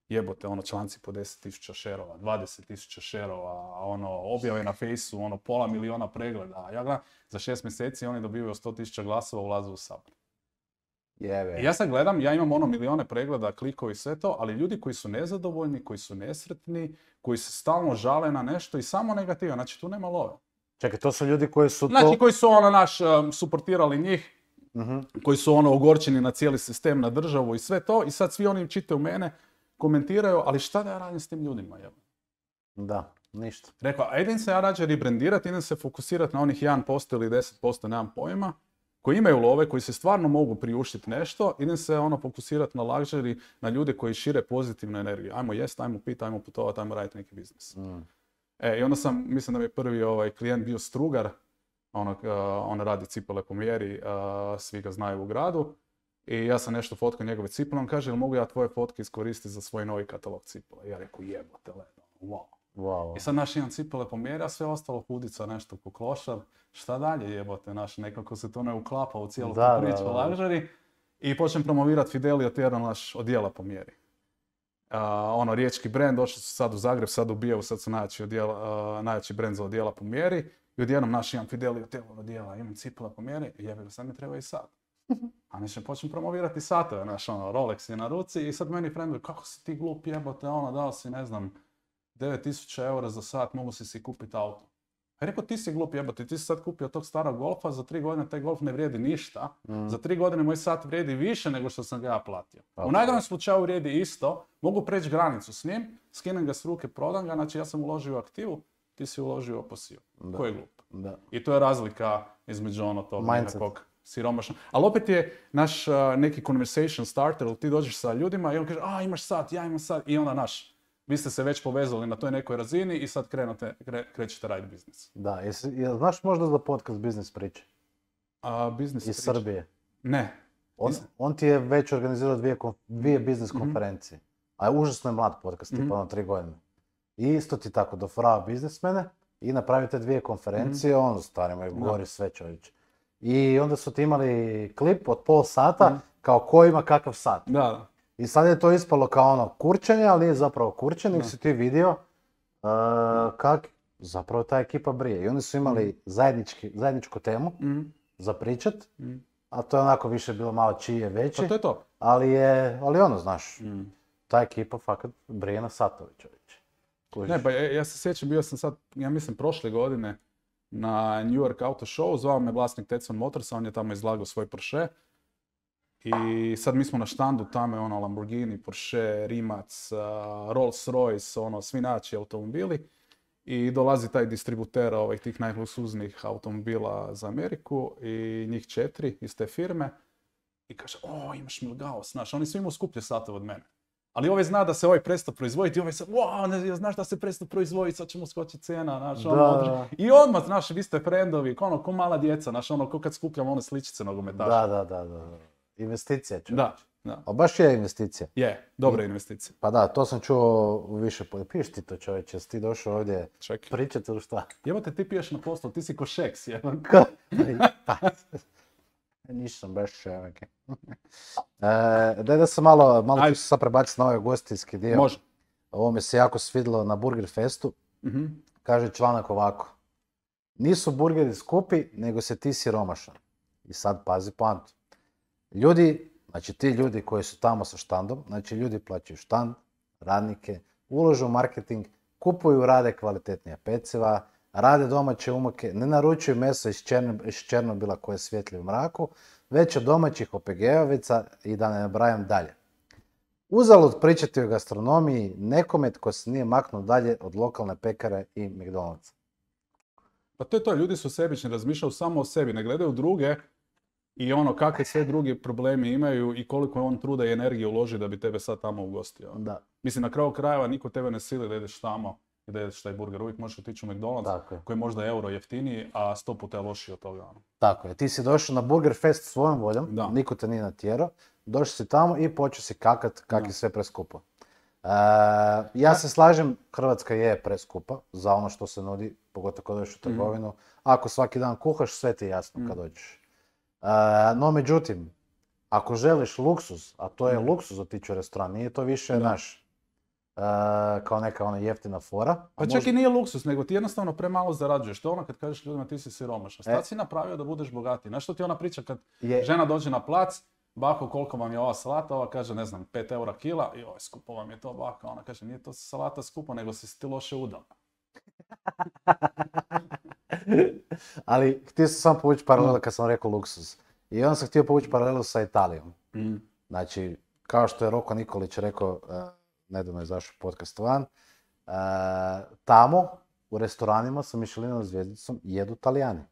Jebote, članci po 10.000 šerova, 20.000 šerova, objave na fejsu, 500.000 pregleda. Ja gledam, za 6 mjeseci oni dobivaju 100.000 glasova, ulaze u Sabor. I ja sad gledam, ja imam milijone pregleda, klikovi i sve to, ali ljudi koji su nezadovoljni, koji su nesretni, koji se stalno žale na nešto i samo negativa, znači tu nema love. Čekaj, to su ljudi koji su Znači koji su suportirali njih, koji su ogorčeni na cijeli sistem, na državu i sve to, i sad svi oni čitaju mene, komentiraju, ali šta da ja radim s tim ljudima? Da, ništa. Rekao, a idem se ja rađe rebrandirati, idem se fokusirati na onih 1% ili 10%, nemam pojma, koji imaju love, koji se stvarno mogu priuštiti nešto, idem se fokusirati na luxury, na ljude koji šire pozitivnu energiju. Ajmo jest, ajmo piti, ajmo putovati, ajmo raditi neki biznis. I onda mislim da mi je prvi klijent bio Strugar, on radi cipele po mjeri, svi ga znaju u gradu. I ja sam nešto fotkao njegove cipele, on kaže, jel mogu ja tvoje fotke iskoristiti za svoj novi katalog cipela? Ja rekao, jebote, wow. I sad imam cipele po mjeri, a sve ostalo hudica, nešto ko klošar. Šta dalje jebote, nekako se to ne uklapa u cijelu tu priču luxury. I počnem promovirati Fidelio Terra odjela po mjeri. Riječki brand, došli su sad u Zagreb, sad u Bijevu, sad su najjači brand za odjela po mjeri. I odjednom imam Fidelio Terra odjela, imam cipela po mjeri, i jebe, sad mi treba i sat. A mislim, počnem promovirati satove, Rolex je na ruci i sad meni friendovi, kako si ti glup jebote, dao si, 9.000 eura za sat, mogu si kupiti auto. Ja rekao, ti si glup jebote, ti si sad kupio tog starog golfa, za 3 godine taj golf ne vrijedi ništa, za 3 godine moj sat vrijedi više nego što sam ga ja platio. U najgorem slučaju vrijedi isto, mogu preći granicu s njim, skinem ga s ruke, prodam ga, znači ja sam uložio u aktivu, ti si uložio u pasiju. Ko je glup? Da. I to je razlika između tog nekakvog siromašnog. Ali opet je naš neki conversation starter, ti dođeš sa ljudima i on kaže, imaš sat, ja imam sat, i onda vi ste se već povezali na toj nekoj razini i sad krećete raditi biznis. Da, znaš možda za podcast Biznis priče? Biznis iz Srbije? Ne. On ti je već organizirao dvije biznis konferencije. A je užasno je mlad podcast, tipa 3 godine. I isto ti tako dofrava biznismene i napravite 2 konferencije, starima je gori sve čovječe. I onda su ti imali klip od pola sata, kao ko ima kakav sat. Da. I sad je to ispalo kao kurčenje, ali nije zapravo kurčenje, nego si ti vidio kak zapravo ta ekipa brije. I oni su imali zajedničku temu za pričat, a to je onako više bilo malo čije veći. Pa to je to. Ali znaš, ta ekipa fakat brije na satovi čovječe. Ne, pa ja se sjećam, bio sam sad, ja mislim prošle godine na New York Auto Show, zvao me vlasnik Tetson Motorsa, on je tamo izlagao svoj Porsche. I sad mi smo na štandu, tamo je Lamborghini, Porsche, Rimac, Rolls Royce, svi najjači automobili. I dolazi taj distributer tih najluksuznijih automobila za Ameriku i njih 4 iz te firme. I kaže, imaš Milgaos, znaš, oni svi imaju skuplje satove od mene. Ali ovaj zna da se ovaj prestao proizvoditi i ovaj se, znaš da se prestao proizvoditi, sad će mu skočiti cijena, znaš, I odmah, znaš, vi ste friendovi, ko mala djeca, znaš, ko kad skupljamo sličice nogometaša. Da. Investicija čovječ. Da. A baš je investicija. Je, dobra investicija. Pa da, to sam čuo više. Piješ ti to čovječe, jesi ti došao ovdje pričati ili šta? Jebote, ti piješ na poslu, ti si ko Šeks, jebam. Nisam baš čovjek. Daj da se malo ću se sad prebaciti na ovaj gostijski dio. Može. Ovo mi se jako svidilo na Burger Festu. Kaže članak ovako. Nisu burgeri skupi, nego se ti siromašan. I sad pazi poantu. Ljudi Znači ti ljudi koji su tamo sa štandom, znači ljudi plaćaju štand, radnike, ulažu u marketing, kupuju, rade kvalitetnija peciva, rade domaće umake, ne naručuju meso iz Černobila koje svijetli u mraku, već od domaćih OPG-ovica i da ne nabrajam dalje. Uzalud pričati o gastronomiji nekome tko se nije maknuo dalje od lokalne pekare i McDonald'sa. Pa to je to, ljudi su sebični, razmišljaju samo o sebi, ne gledaju druge i ono kakve sve drugi problemi imaju i koliko on truda i energije uloži da bi tebe sad tamo ugostio. Da. Mislim, na kraju krajeva niko tebe ne sili da ideš tamo i da jedeš taj burger. Uvijek možeš otići u McDonald's koji je možda euro jeftiniji, a 100 puta je lošiji od toga. Tako je, ti si došao na Burger Fest svojom voljom, niko te nije natjerao, došao si tamo i počeo si kakat kak je sve preskupo. Ja se slažem, Hrvatska je preskupa za ono što se nudi, pogotovo kad dođeš u trgovinu. Ako svaki dan kuhaš, sve ti je jasno kad dođeš. No međutim, ako želiš luksuz, a to je luksuz otići u restoran, nije to više naš kao neka ona jeftina fora. Pa čak i nije luksuz, nego ti jednostavno premalo zarađuješ. To je ono kad kažeš ljudima ti si siromašan. Šta si napravio da budeš bogatiji? Znaš što ti ona priča kad žena dođe na plac, bako koliko vam je ova salata, ova kaže ne znam 5 eura kila i skupo vam je to baka. Ona kaže nije to salata skupo, nego si ti loše udala. Ali htio sam samo povući paralelu kad sam rekao luksuz. I onda sam htio povući paralelu sa Italijom. Znači, kao što je Roko Nikolić rekao, nedavno je izašao podcast van, tamo u restoranima sa Michelinovom zvijezdicom jedu Talijani.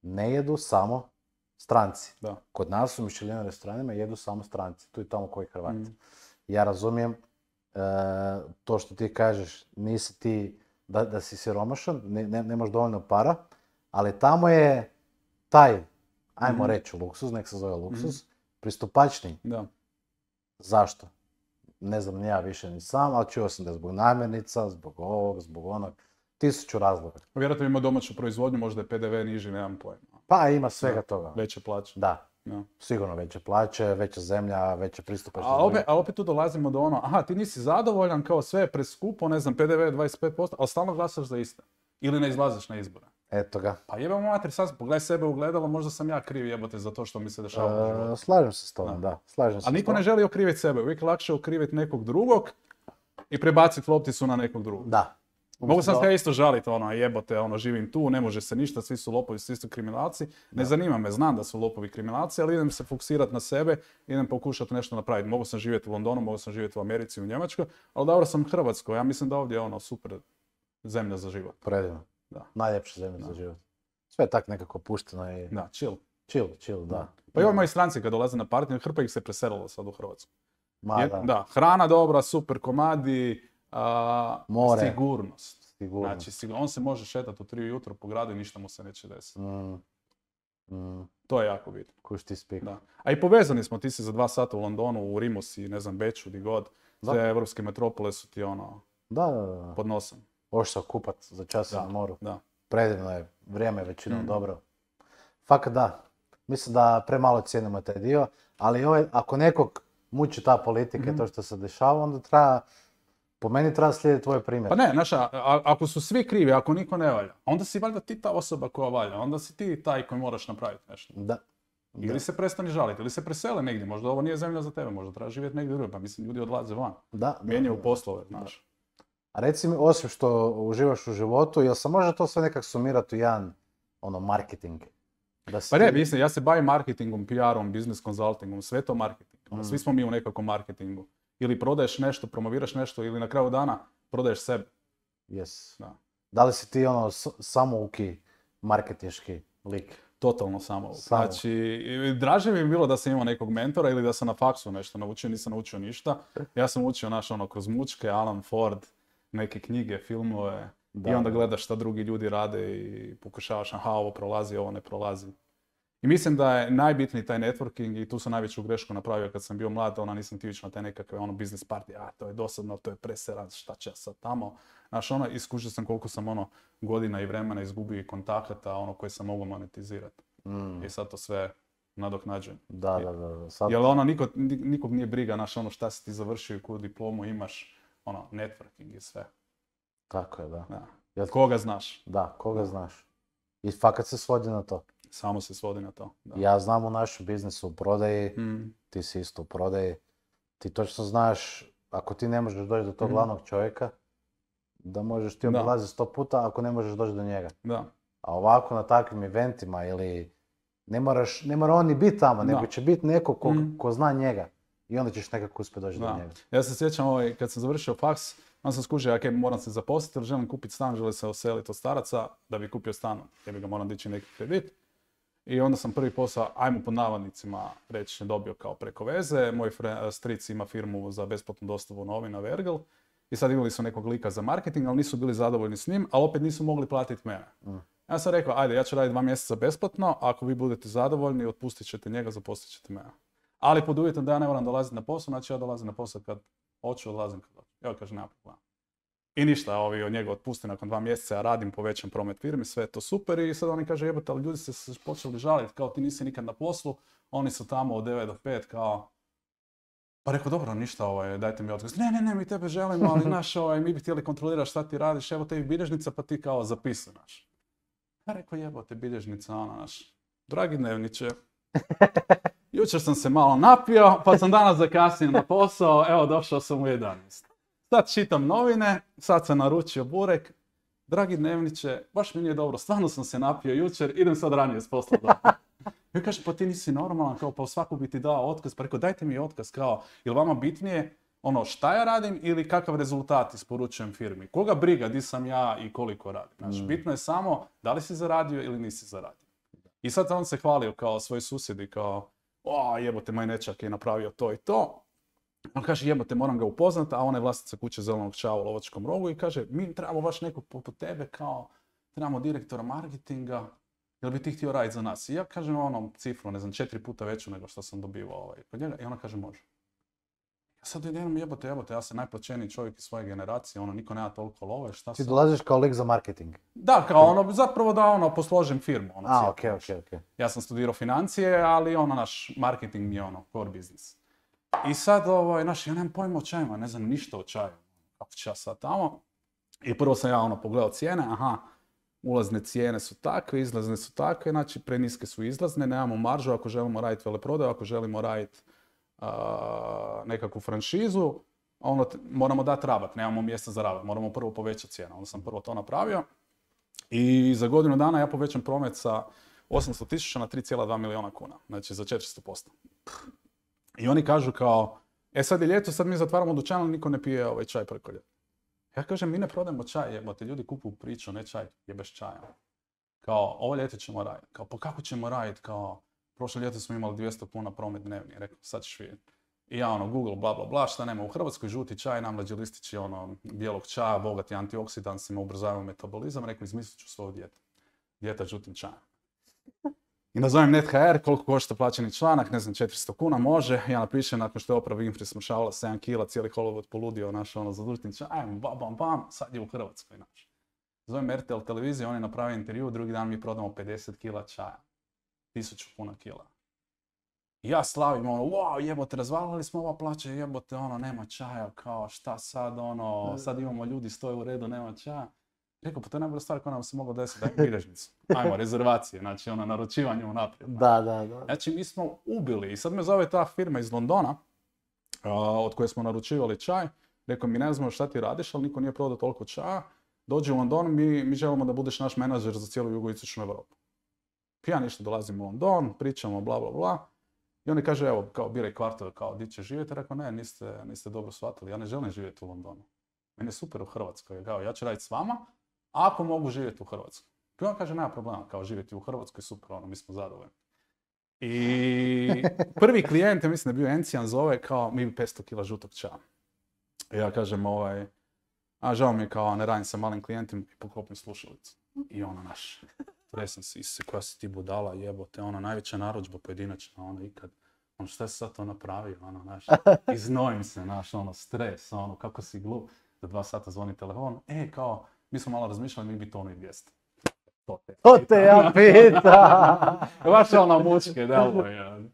Ne jedu samo stranci. Da. Kod nas u Michelinovim restoranima jedu samo stranci, tu i tamo koji Hrvati. Ja razumijem to što ti kažeš, nisi ti da si siromašan, nemaš dovoljno para, ali tamo je taj, ajmo reći luksuz, nek se zove luksuz, pristupačniji. Da. Zašto? Ne znam ni ja više ni sam, ali čuo sam da je zbog namirnica, zbog ovog, zbog onog, 1000 razloga. Vjerojatno ima domaću proizvodnju, možda je PDV niži, nemam pojma. Pa ima svega toga. Veće plaće. Da. Sigurno veće plaće, veća zemlja, veća pristupačnost. A opet tu dolazimo do ono, aha, ti nisi zadovoljan, kao sve je preskupo, ne znam, PDV je 25%, ali stalno glasaš za iste. Ili ne izlaziš na izbore. Eto ga. Pa jebamo mater, sad pogledaj sebe u gledalo, možda sam ja kriv jebote za to što mi se dešava u životu. Slažem se s tobom, da. A niko ne želi okriviti sebe, uvijek lakše okriviti nekog drugog i prebaciti lopticu na nekog drugog. Da. Mogu sam se isto žaliti, jebote, živim tu, ne može se ništa, svi su lopovi, svi su kriminalci. Ne zanima me, znam da su lopovi kriminalci, ali idem se fokusirati na sebe, idem pokušati nešto napraviti. Mogu sam živjeti u Londonu, mogu sam živjeti u Americi, u Njemačkoj, ali dobro sam u Hrvatskoj. Ja mislim da ovdje je super zemlja za život. Predivno. Najljepša zemlja za život. Sve je tak nekako pušteno i... Da, chill. Chill, da. Pa i ovi moji stranci kad dolaze na partiju, hrpa ih se preselilo sad u Hrvatsku. Da, hrana dobra, super komadi, more. Sigurnost. Znači, on se može šetati u 3 ujutro po gradu i ništa mu se neće desiti. To je jako bitno. Kuš ti spik. Da. A i povezani smo, ti si za 2 sata u Londonu, u Rimu si, ne znam, Beču, di god. Sve evropske metropole su ti pod nosom. Možeš se okupat za čas na moru. Da. Predivno je, vrijeme je većinom dobro. Fakat da. Mislim da premalo cijenimo taj dio, ali ako nekog muči ta politika, to što se dešava, onda treba... Po meni treba slijediti tvoj primjer. Pa ne, ako su svi krivi, ako niko ne valja, onda si valjda ti ta osoba koja valja, onda si ti taj koji moraš napraviti nešto. Da. Ili se prestani žaliti, ili se presele negdje, možda ovo nije zemlja za tebe, možda treba živjeti negdje drugo, pa mislim ljudi odlaze van. Mijenjaju poslove, znaš. A reci mi, osim što uživaš u životu, jel se može to sve nekak sumirati u jedan, marketing? Pa ne, mislim, ja se bavim marketingom, PR-om, business consultingom, sve to marketing. Svi smo mi u nekakvom marketingu. Ili prodaješ nešto, promoviraš nešto, ili na kraju dana prodaješ sebe. Yes. Da li si ti samouki marketinški lik? Totalno samouki. Znači, draže mi je bilo da sam imao nekog mentora ili da sam na faksu nešto naučio, nisam naučio ništa. Ja sam učio kroz mučke, Alan Ford, neke knjige, filmove i onda gledaš šta drugi ljudi rade i pokušavaš, aha, ovo prolazi, ovo ne prolazi. I mislim da je najbitniji taj networking i tu sam najveću grešku napravio kad sam bio mlad, nisam htio ići na te nekakve business party, to je dosadno, to je preseran, šta će ja sad tamo. Znaš, iskušao sam koliko sam godina i vremena izgubio i kontakata, koje sam mogao monetizirati. I sad to sve nadoknađujem. Da. Sad... Jer nikog nije briga, znaš, šta si ti završio i koju diplomu imaš, networking i sve. Tako je, da. Koga znaš? Da, koga znaš. I fakat se svodi na to. Samo se svodi na to. Da. Ja znam u našem biznisu u prodaji, Mm. ti si isto u prodaji, ti točno znaš, ako ti ne možeš doći do tog glavnog čovjeka, da možeš ti obilaziti 100 puta ako ne možeš doći do njega. Da. A ovako na takvim eventima ili ne mora on ni biti tamo, nego će biti neko ko zna njega i onda ćeš nekako uspjeti doći do njega. Ja se sjećam kad sam završio faks, onda sam skužio, ok, moram se zaposliti jer želim kupiti stan, želim se oseliti od staraca da bi kupio stan, jer bi ga moram dići neki kredit. I onda sam prvi posao, ajmo pod navodnicima reći, dobio kao preko veze. Moj stric ima firmu za besplatnu dostavu novina Vergel. I sad imali su nekog lika za marketing, ali nisu bili zadovoljni s njim, ali opet nisu mogli platiti mene. Ja sam rekao, ajde, ja ću raditi 2 mjeseca besplatno, ako vi budete zadovoljni, otpustit ćete njega, zaposlit ćete mene. Ali pod uvjetom da ja ne moram dolaziti na posao, znači ja dolazim na posao kad hoću, odlazim kad hoću. Evo kaže, nema problema. I ništa, ovi od njega otpusti nakon 2 mjeseca, ja radim, povećam promet firmi, sve je to super i sad oni kaže, jebote, ali ljudi se počeli žaliti, kao ti nisi nikad na poslu, oni su tamo od 9 do 5, kao... Pa rekao, dobro, ništa, dajte mi otkaz. Ne, mi tebe želimo, ali naš, mi bi htjeli kontrolirati šta ti radiš, evo tebi bilježnica, pa ti kao zapisuj, naš. Ja rekao, jebote, bilježnica, naš. Dragi dnevniče, jučer sam se malo napio, pa sam danas zakasnio na posao, evo došao sam u 11. Sad čitam novine, sad sam naručio burek. Dragi dnevniče, baš mi nije dobro, stvarno sam se napio jučer, idem sad ranije s posla doma. Ja kažem, pa ti nisi normalan, kao pa svaku bi ti dao otkaz, pa rekao dajte mi otkaz, kao, je li vama bitnije šta ja radim ili kakav rezultat isporučujem firmi? Koga briga di sam ja i koliko radim? Znači, bitno je samo da li si zaradio ili nisi zaradio. I sad on se hvalio kao svoji susjedi, kao, jebote, moj nečak je napravio to i to. On kaže, jebote, moram ga upoznat, a ona je vlasnica kuće Zelenog čava u Lovačkom rogu i kaže, mi trebamo baš nekog poput tebe, kao, trebamo direktora marketinga, jel bi ti htio raditi za nas? I ja kažem cifru, 4 puta veću nego što sam dobivao kod njega i ona kaže, može. Ja sad idem, jebote, ja sam najplaćeniji čovjek iz svoje generacije, niko nema toliko love, šta Ti sam... dolaziš kao lik za marketing? Da, kao zapravo da posložim firmu. Ok. Ja sam studirao financije, ali naš marketing mi je core business. I sad, ja nemam pojma o čajima, ne znam ništa o čaju. Kako ću ja sad tamo? I prvo sam ja pogledao cijene, ulazne cijene su takve, izlazne su takve, znači preniske su izlazne, nemamo maržu ako želimo raditi veleprodaju, ako želimo raditi nekakvu franšizu, moramo dati rabat, nemamo mjesta za rabat, moramo prvo povećati cijenu. Onda sam prvo to napravio i za godinu dana ja povećam promet sa 800.000 na 3,2 milijuna kuna, znači za 400%. I oni kažu kao, sad je ljeto, sad mi zatvaramo dućan, ali niko ne pije ovaj čaj preko ljeta. Ja kažem, mi ne prodajemo čaj, jebote, ljudi kupuju priču, ne čaj, jebeš čaja. Kao, ovo ljeto ćemo raditi. Kao, pa kako ćemo raditi? Kao, prošle ljeto smo imali 200 kuna promet dnevni. Rekao, sad ćeš vidjeti. I ja Google, bla, bla, bla, šta nema u Hrvatskoj, žuti čaj, namlađi listići bijelog čaja, bogati antioksidansima, ubrzavaju metabolizam. Rekao, izmislit ću svoju dijetu. Dijeta žutim čajem. I nazovem NetHR, koliko košta plaćeni članak, ne znam, 400 kuna, može. Ja napišem, nakon što je Oprah Winfrey smršavala 7 kila, cijeli Hollywood poludio za žutim čajem, bam, sad je u Hrvatskoj, naš. Zovem RTL televiziju, oni naprave intervju, drugi dan mi prodamo 50 kila čaja. 1000 kuna kila. I ja slavim, wow, jebote, razvalili smo ova plaća, jebote, nema čaja, kao, šta sad, sad imamo ljudi, stoje u redu, nema čaja. Rekao, pa to je najbolja stvar koja nam se mogla desiti, daj bilježnicu. Ajmo, rezervacije, znači naručivanje unaprijed. Da. Znači, mi smo ubili i sad me zove ta firma iz Londona, od koje smo naručivali čaj. Rekao, mi ne znamo šta ti radiš, ali niko nije prodao toliko čaja. Dođi u London, mi želimo da budeš naš menadžer za cijelu jugoistočnu Europu. Ja ništa dolazim u London, pričamo, bla, bla, bla. I oni kaže, evo, kao, biraj kvartove, kao, di će živjeti? Rekao, ne, niste dobro shvatili, ja ne želim živjeti u Londonu. Meni je super u Hrvatskoj, kao, ja ću raditi s vama, ako mogu živjeti u Hrvatskoj. I on kaže, nema problema, kao živjeti u Hrvatskoj, super, mi smo zadovoljni. I prvi klijent, ja mislim da je bio Encijan, zove kao, mi bi 500 kila žutog čaja. I ja kažem, žao mi je kao, ne radim sa malim klijentima i poklopim slušalicu. I naš, tresem se, koja si ti budala, jebote, najveća narudžba pojedinačna, ikad. Šta si sad to napravio, naš, iznojim se, naš, stres, kako si glup. Za 2 sata zvoni telefon, kao, mi smo malo razmišljali, mi bi tonu i 200. To te ja pitam! Baš mučke, deluje.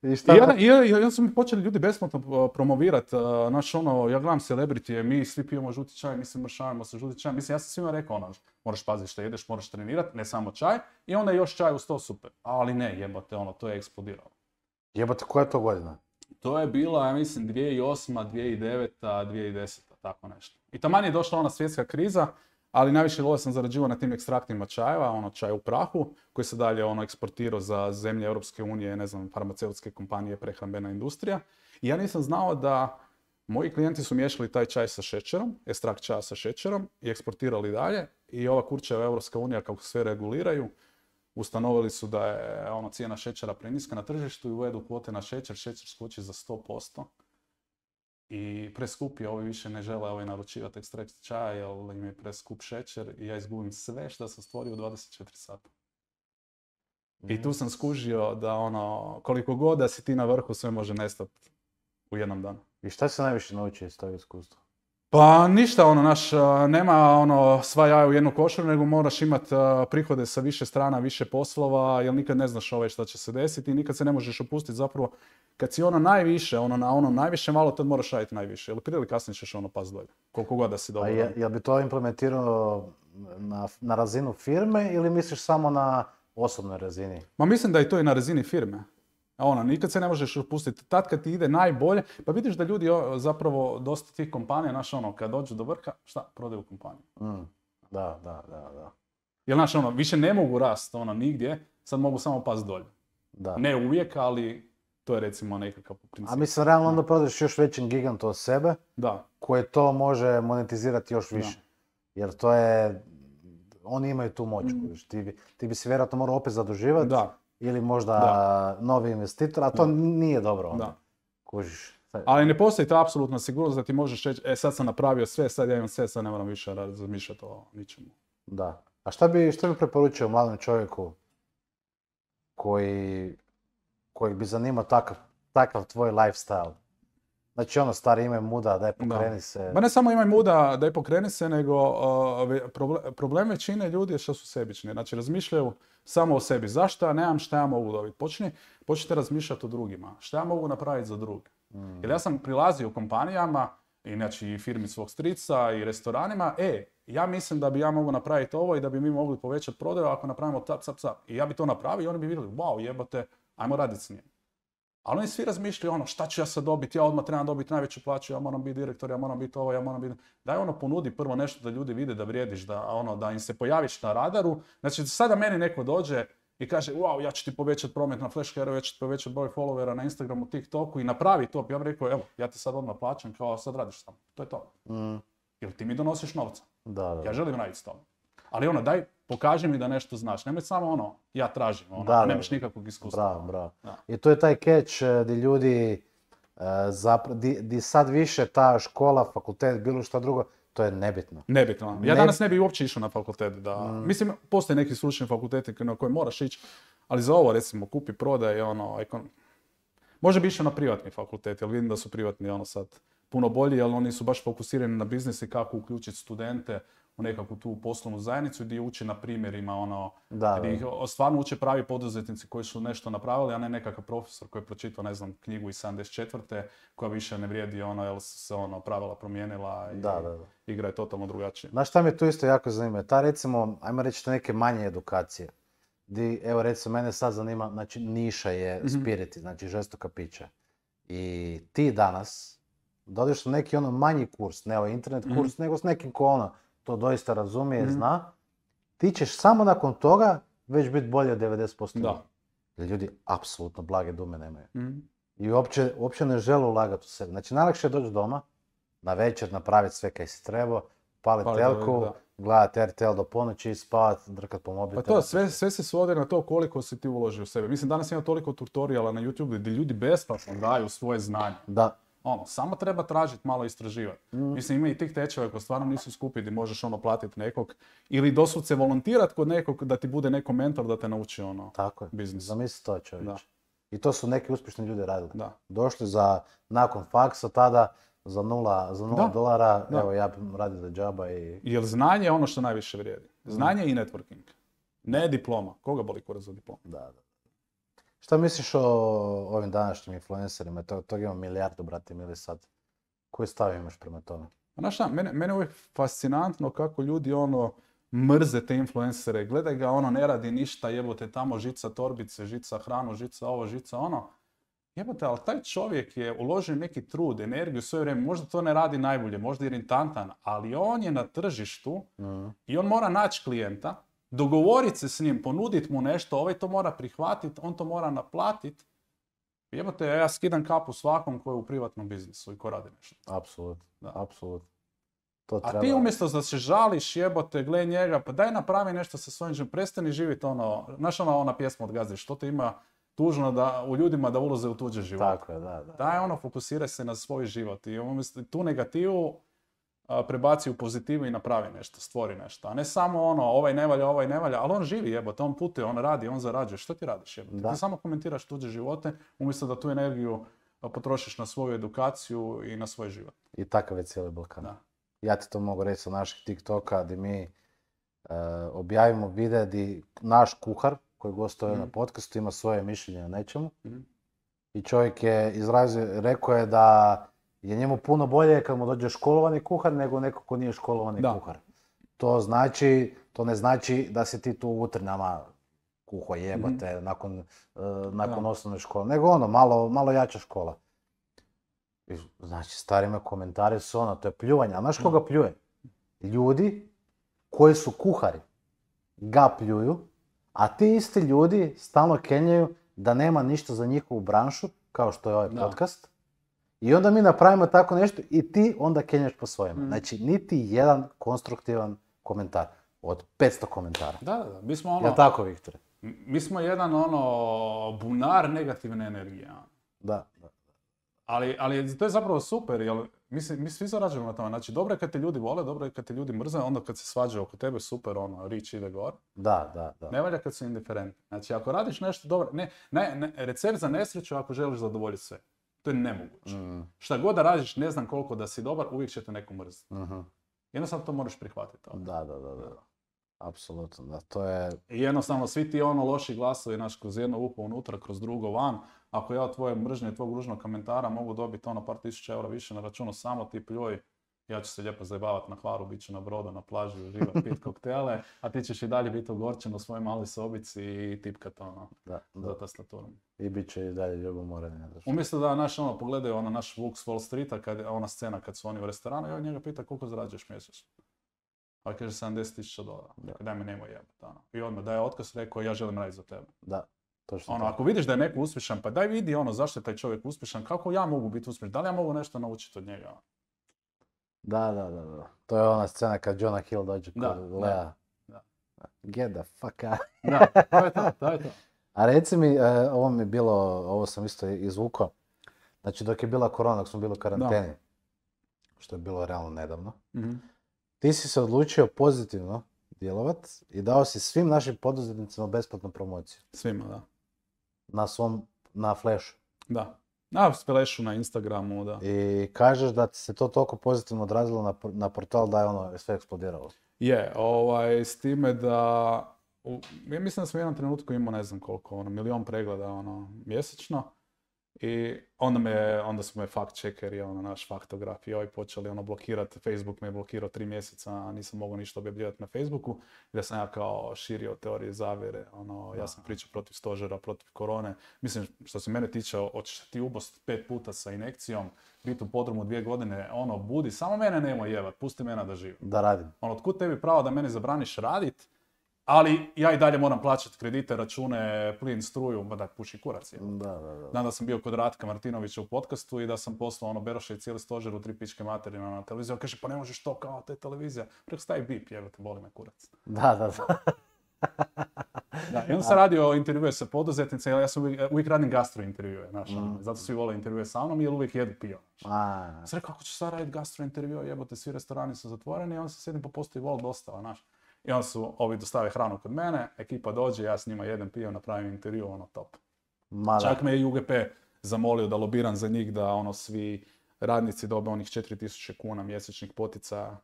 I šta? I onda su mi počeli ljudi besplatno promovirati, znaš ono, ja gledam celebrity, mi svi pijemo žuti čaj, mi se mršavimo sa žuti čaj, mislim, ja sam svima rekao ono, moraš paziti što jedeš, moraš trenirati, ne samo čaj, i onda još čaj uz to super, ali ne, jebote, ono, to je eksplodiralo. Jebote, koja je to godina? To je bila, ja mislim, 2008, 2009, 2010, tako nešto. I taman je došla ona svjetska kriza, ali najviše love sam zarađivao na tim ekstraktima čajeva, ono čaj u prahu, koji se dalje ono eksportirao za zemlje Europske unije, ne znam, farmaceutske kompanije, prehrambena industrija. I ja nisam znao da moji klijenti su miješali taj čaj sa šećerom, ekstrakt čaja sa šećerom i eksportirali dalje. I ova kurčeva Europska unija, kako sve reguliraju, ustanovili su da je ono cijena šećera preniska na tržištu i uvedu kvote na šećer, šećer skoči za 100%. I preskup je, ovi više ne žele naručivati ekstrakt čaja jer im je preskup šećer i ja izgubim sve što sam stvorio u 24 sata. I tu sam skužio da ono, koliko god da si ti na vrhu, sve može nestati u jednom danu. I šta se najviše naučio iz tog iskustva? Pa ništa, ono, nema ono sva jaja u jednu košaru, nego moraš imati prihode sa više strana, više poslova, jer nikad ne znaš šta će se desiti i nikad se ne možeš opustiti zapravo. Kad si najviše, na najviše malo, tad moraš raditi najviše, jer prije ili kasnije ćeš pas dolje, koliko god da si dobro. A jel bi to implementirao na razinu firme ili misliš samo na osobnoj razini? Ma mislim da je to i na razini firme. Nikad se ne možeš opustiti. Tad kad ti ide najbolje, pa vidiš da ljudi zapravo dosta tih kompanija, kad dođu do vrha, šta? Prodaju kompaniju. Da. Jer više ne mogu rast nigdje, sad mogu samo pas dolje. Da. Ne uvijek, ali to je recimo nekakav princip. A mislim, realno onda prodaješ još većim gigantu od sebe, koje to može monetizirati još više. Jer to je, oni imaju tu moć. Ti bi se vjerojatno morao opet zaduživati. Da. Ili možda novi investitor, a to nije dobro onda. Kužiš. Ali ne postoji ta apsolutna sigurnost da ti možeš reći, sad sam napravio sve, sad ja imam sve, sad ne moram više razmišljati o ničemu. Da. A šta bi preporučio mladom čovjeku koji bi zanimao takav tvoj lifestyle? Znači stari imaj muda, daj pokreni se. Ba ne samo imaj muda, daj pokreni se, nego problem većine ljudi je što su sebični. Znači razmišljaju samo o sebi. Zašto ja nemam, šta ja mogu dobiti? Počnite razmišljati o drugima. Šta ja mogu napraviti za druge? Jer ja sam prilazio kompanijama, znači i firmi svog strica i restoranima, ja mislim da bi ja mogu napraviti ovo i da bi mi mogli povećati prodaju ako napravimo tap. I ja bi to napravio i oni bi vidjeli, wow, jebote, ajmo raditi s njim. Ali oni svi razmišljaju šta ću ja sad dobiti, ja odmah trebam dobiti najveću plaću, ja moram biti direktor, ja moram biti ovo, ja moram biti... Daj ponudi prvo nešto da ljudi vide da vrijediš, da im se pojaviš na radaru. Znači sada meni neko dođe i kaže, wow, ja ću ti povećati promet na FlashHero, ja ću ti povećati broj followera na Instagramu, TikToku i napravi to. Ja bih rekao, evo, ja ti sad odmah plaćam, kao sad radiš samo. To je to. Jer ti mi donosiš novca. Da. Ja želim raditi s tobom. Ali daj, pokaži mi da nešto znaš. Nemoj samo ja tražim, nemaš nikakvog iskustva. Bravo. I to je taj catch gdje ljudi, di sad više ta škola, fakultet, bilo šta drugo, to je nebitno. Nebitno. Ja danas ne bi uopće išao na fakultet. Mislim, postoje neki stručni fakulteti na koje moraš ići, ali za ovo, recimo, kupi, prodaj, može bi išao na privatni fakultet, jer vidim da su privatni sad puno bolji, jer oni su baš fokusirani na biznis i kako uključiti studente u nekakvu tu poslovnu zajednicu gdje uči na primjerima, gdje ih stvarno uče pravi poduzetnici koji su nešto napravili, a ne nekakav profesor koji je pročitao, ne znam, knjigu iz 74. koja više ne vrijedi, jer su se pravila promijenila i igra je totalno drugačije. Znaš šta mi tu isto jako zanima? Ta recimo, ajmo reći neke manje edukacije. Evo recimo, mene sad zanima, znači niša je spiriti, znači žestoka pića. I ti danas dodeš na neki manji kurs, ne internet kurs, nego s nekim ko to doista razumije, zna, ti ćeš samo nakon toga već biti bolje od 90%. Da. Jer ljudi apsolutno blage dume nemaju. I uopće ne žele ulagati u sebe. Znači najlakše je doći doma, na večer napraviti sve kaj si trebao, paliti telku, gledati RTL do ponoći i spavati, drkat po mobitelu. Pa to, sve se svodi na to koliko si ti uložio u sebe. Mislim, danas ima toliko tutoriala na YouTube gdje ljudi besplatno daju svoje znanje. Da. Samo treba tražiti, malo istraživati. Mislim, ima i tih tečajeva koji stvarno nisu skupi gdje možeš platiti nekog ili doslovce volontirati kod nekog da ti bude neko mentor da te nauči tako je. Biznis. Zamisli to, čovječe. I to su neki uspješni ljudi radili. Da. Došli nakon faksa tada za $0, evo ja radim za džaba i... Jer znanje je ono što najviše vrijedi. Znanje i networking. Ne diploma. Koga boli kurac za diplom? Da. Šta misliš o ovim današnjim influencerima? Tog ima milijardu, brate mili sad. Koji stav imaš prema tome? Znaš šta, mene je uvijek fascinantno kako ljudi mrze te influencere. Gledaj ga, ne radi ništa, jebote tamo žica torbice, žica hranu, žica ovo, žica ono. Jebote, ali taj čovjek je uložio neki trud, energiju, svoje vrijeme, možda to ne radi najbolje, možda je iritanttan, ali on je na tržištu i on mora naći klijenta, dogovoriti se s njim, ponuditi mu nešto, ovaj to mora prihvatiti, on to mora naplatiti. Jebote, ja skidam kapu svakom koji je u privatnom biznisu i ko radi nešto. Apsolutno, Da. apsolutno. A ti umjesto da se žališ, jebote, gle njega, pa daj napravi nešto sa svojim životom, prestani živjeti znaš ona pjesma od Gazde, što te ima tužno u ljudima da ulaze u tuđe živote. Tako je, da. Daj fokusiraj se na svoj život i umjesto tu negativu prebaci u pozitivu i napravi nešto, stvori nešto. A ne samo ovaj ne valja, ali on živi jebote, on putuje, on radi, on zarađuje. Što ti radiš jebote? Ti samo komentiraš tuđe živote umjesto da tu energiju potrošiš na svoju edukaciju i na svoj život. I takav je cijeli Balkan. Da. Ja ti to mogu reći sa naših TikToka gdje mi objavimo videa gdje naš kuhar koji gostuje na podcastu ima svoje mišljenje o nečemu. I čovjek je rekao je da je njemu puno bolje kad mu dođe školovani kuhar nego neko ko nije školovani kuhar. To ne znači da si ti tu u Utrinama kuho jebate nakon osnovne škole, nego malo jača škola. I, znači, stari me komentari su to je pljuvanje. A znaš koga pljuje? Ljudi koji su kuhari ga pljuju, a ti isti ljudi stalno kenjaju da nema ništa za njihovu branšu, kao što je ovaj podcast. I onda mi napravimo tako nešto i ti onda kenjaš po svojima. Znači, niti jedan konstruktivan komentar od 500 komentara. Da. Mi smo Jel' tako, Viktore? Mi smo jedan bunar negativne energije. Da. Ali to je zapravo super, jer mi svi zarađujemo na tome. Znači, dobro je kad te ljudi vole, dobro je kad te ljudi mrze, onda kad se svađaju oko tebe, super, rič ide gore. Da. Ne valja kad su indiferentni. Znači, ako radiš nešto dobro, recept za nesreću ako želiš zadovoljiti sve. To je nemoguće. Šta god da radiš, ne znam koliko da si dobar, uvijek će te neko mrziti. Jednostavno to moraš prihvatiti. Da. Apsolutno, da, to je... I jednostavno, svi ti loši glasovi, kroz jedno uho unutra, kroz drugo van, ako ja od tvoje mržnje i tvog ružnog komentara mogu dobiti par tisuća eura više na računu, samo ti pljuj, ja ću se lijepo zajebavati na Hvaru, bit ću na brodu, na plaži, uživati, pit koktele, a ti ćeš i dalje biti ogorčen u svojoj maloj sobici i tipkat za tastaturom. I bit će i dalje ljubomoreni. Umjesto da pogledaju naš Vuk s Wall Streeta, ona scena kad su oni u restoranu, ja njega pita koliko zarađuješ mjesečno. Pa kaže $70,000. Daj me nemoj jebati. I odmah daje otkaz, rekao ja želim raditi za tebe. Da, točno. Ako vidiš da je neko uspješan, pa daj vidi zašto je taj čovjek uspješan, kako ja mogu biti uspješan, da li ja mogu nešto naučiti od njega? Da. To je ona scena kad Jonah Hill dođe kod Lea. Get the fuck out. Da, to je to. A reci mi, ovo sam isto izvukao. Znači dok je bila korona, dok smo bili u karanteni, što je bilo realno nedavno, ti si se odlučio pozitivno djelovat i dao si svim našim poduzetnicima besplatnu promociju. Svima, da. Na Flashu. Da. Na Flashu, na Instagramu, da. I kažeš da ti se to toliko pozitivno odrazilo na portal da je sve eksplodiralo. Je, s time da... Ja mislim da sam u jednom trenutku imao ne znam koliko, 1 milion pregleda mjesečno. I onda su me fact checkeri, naš faktograf i počeli blokirati. Facebook me je blokirao 3 mjeseca, a nisam mogao ništa objavljivati na Facebooku. I da sam ja kao širio teorije zavjere, ja sam pričao protiv stožera, protiv korone. Mislim, što se mene tiče, hoćeš ti ubost 5 puta sa injekcijom, biti u podrumu 2 godine, budi, samo mene nemoj jebat, pusti mene da živim. Da radim. Otkud tebi pravo da mene zabraniš radit, ali ja i dalje moram plaćati kredite, račune, plin, struju, da puši kurac. Da. Dan da sam bio kod Ratka Martinovića u podcastu i da sam poslao Beroša i cijeli stožer u 3 pičke materina na televiziju. On kaže, pa ne možeš to kao, to je televizija. Preko stavi bip, jebate, boli me kurac. Da. I onda sam radio intervjue sa poduzetnicima, ja sam uvijek radim gastro intervjue, zato svi vole intervjue sa mnom jer uvijek jedu pivo. Sam rekao, kako ću sad raditi gastro intervjue, jebote, svi restorani su zatvoreni i onda se sjedim po postoji vol dostava, I onda su ovi dostave hranu kod mene, ekipa dođe, ja s njima jedem pivo, napravim intervju, top. Čak me je UGP zamolio da lobiram za njih, da svi radnici dobe onih 4.000 kuna mjesečnih poticaja,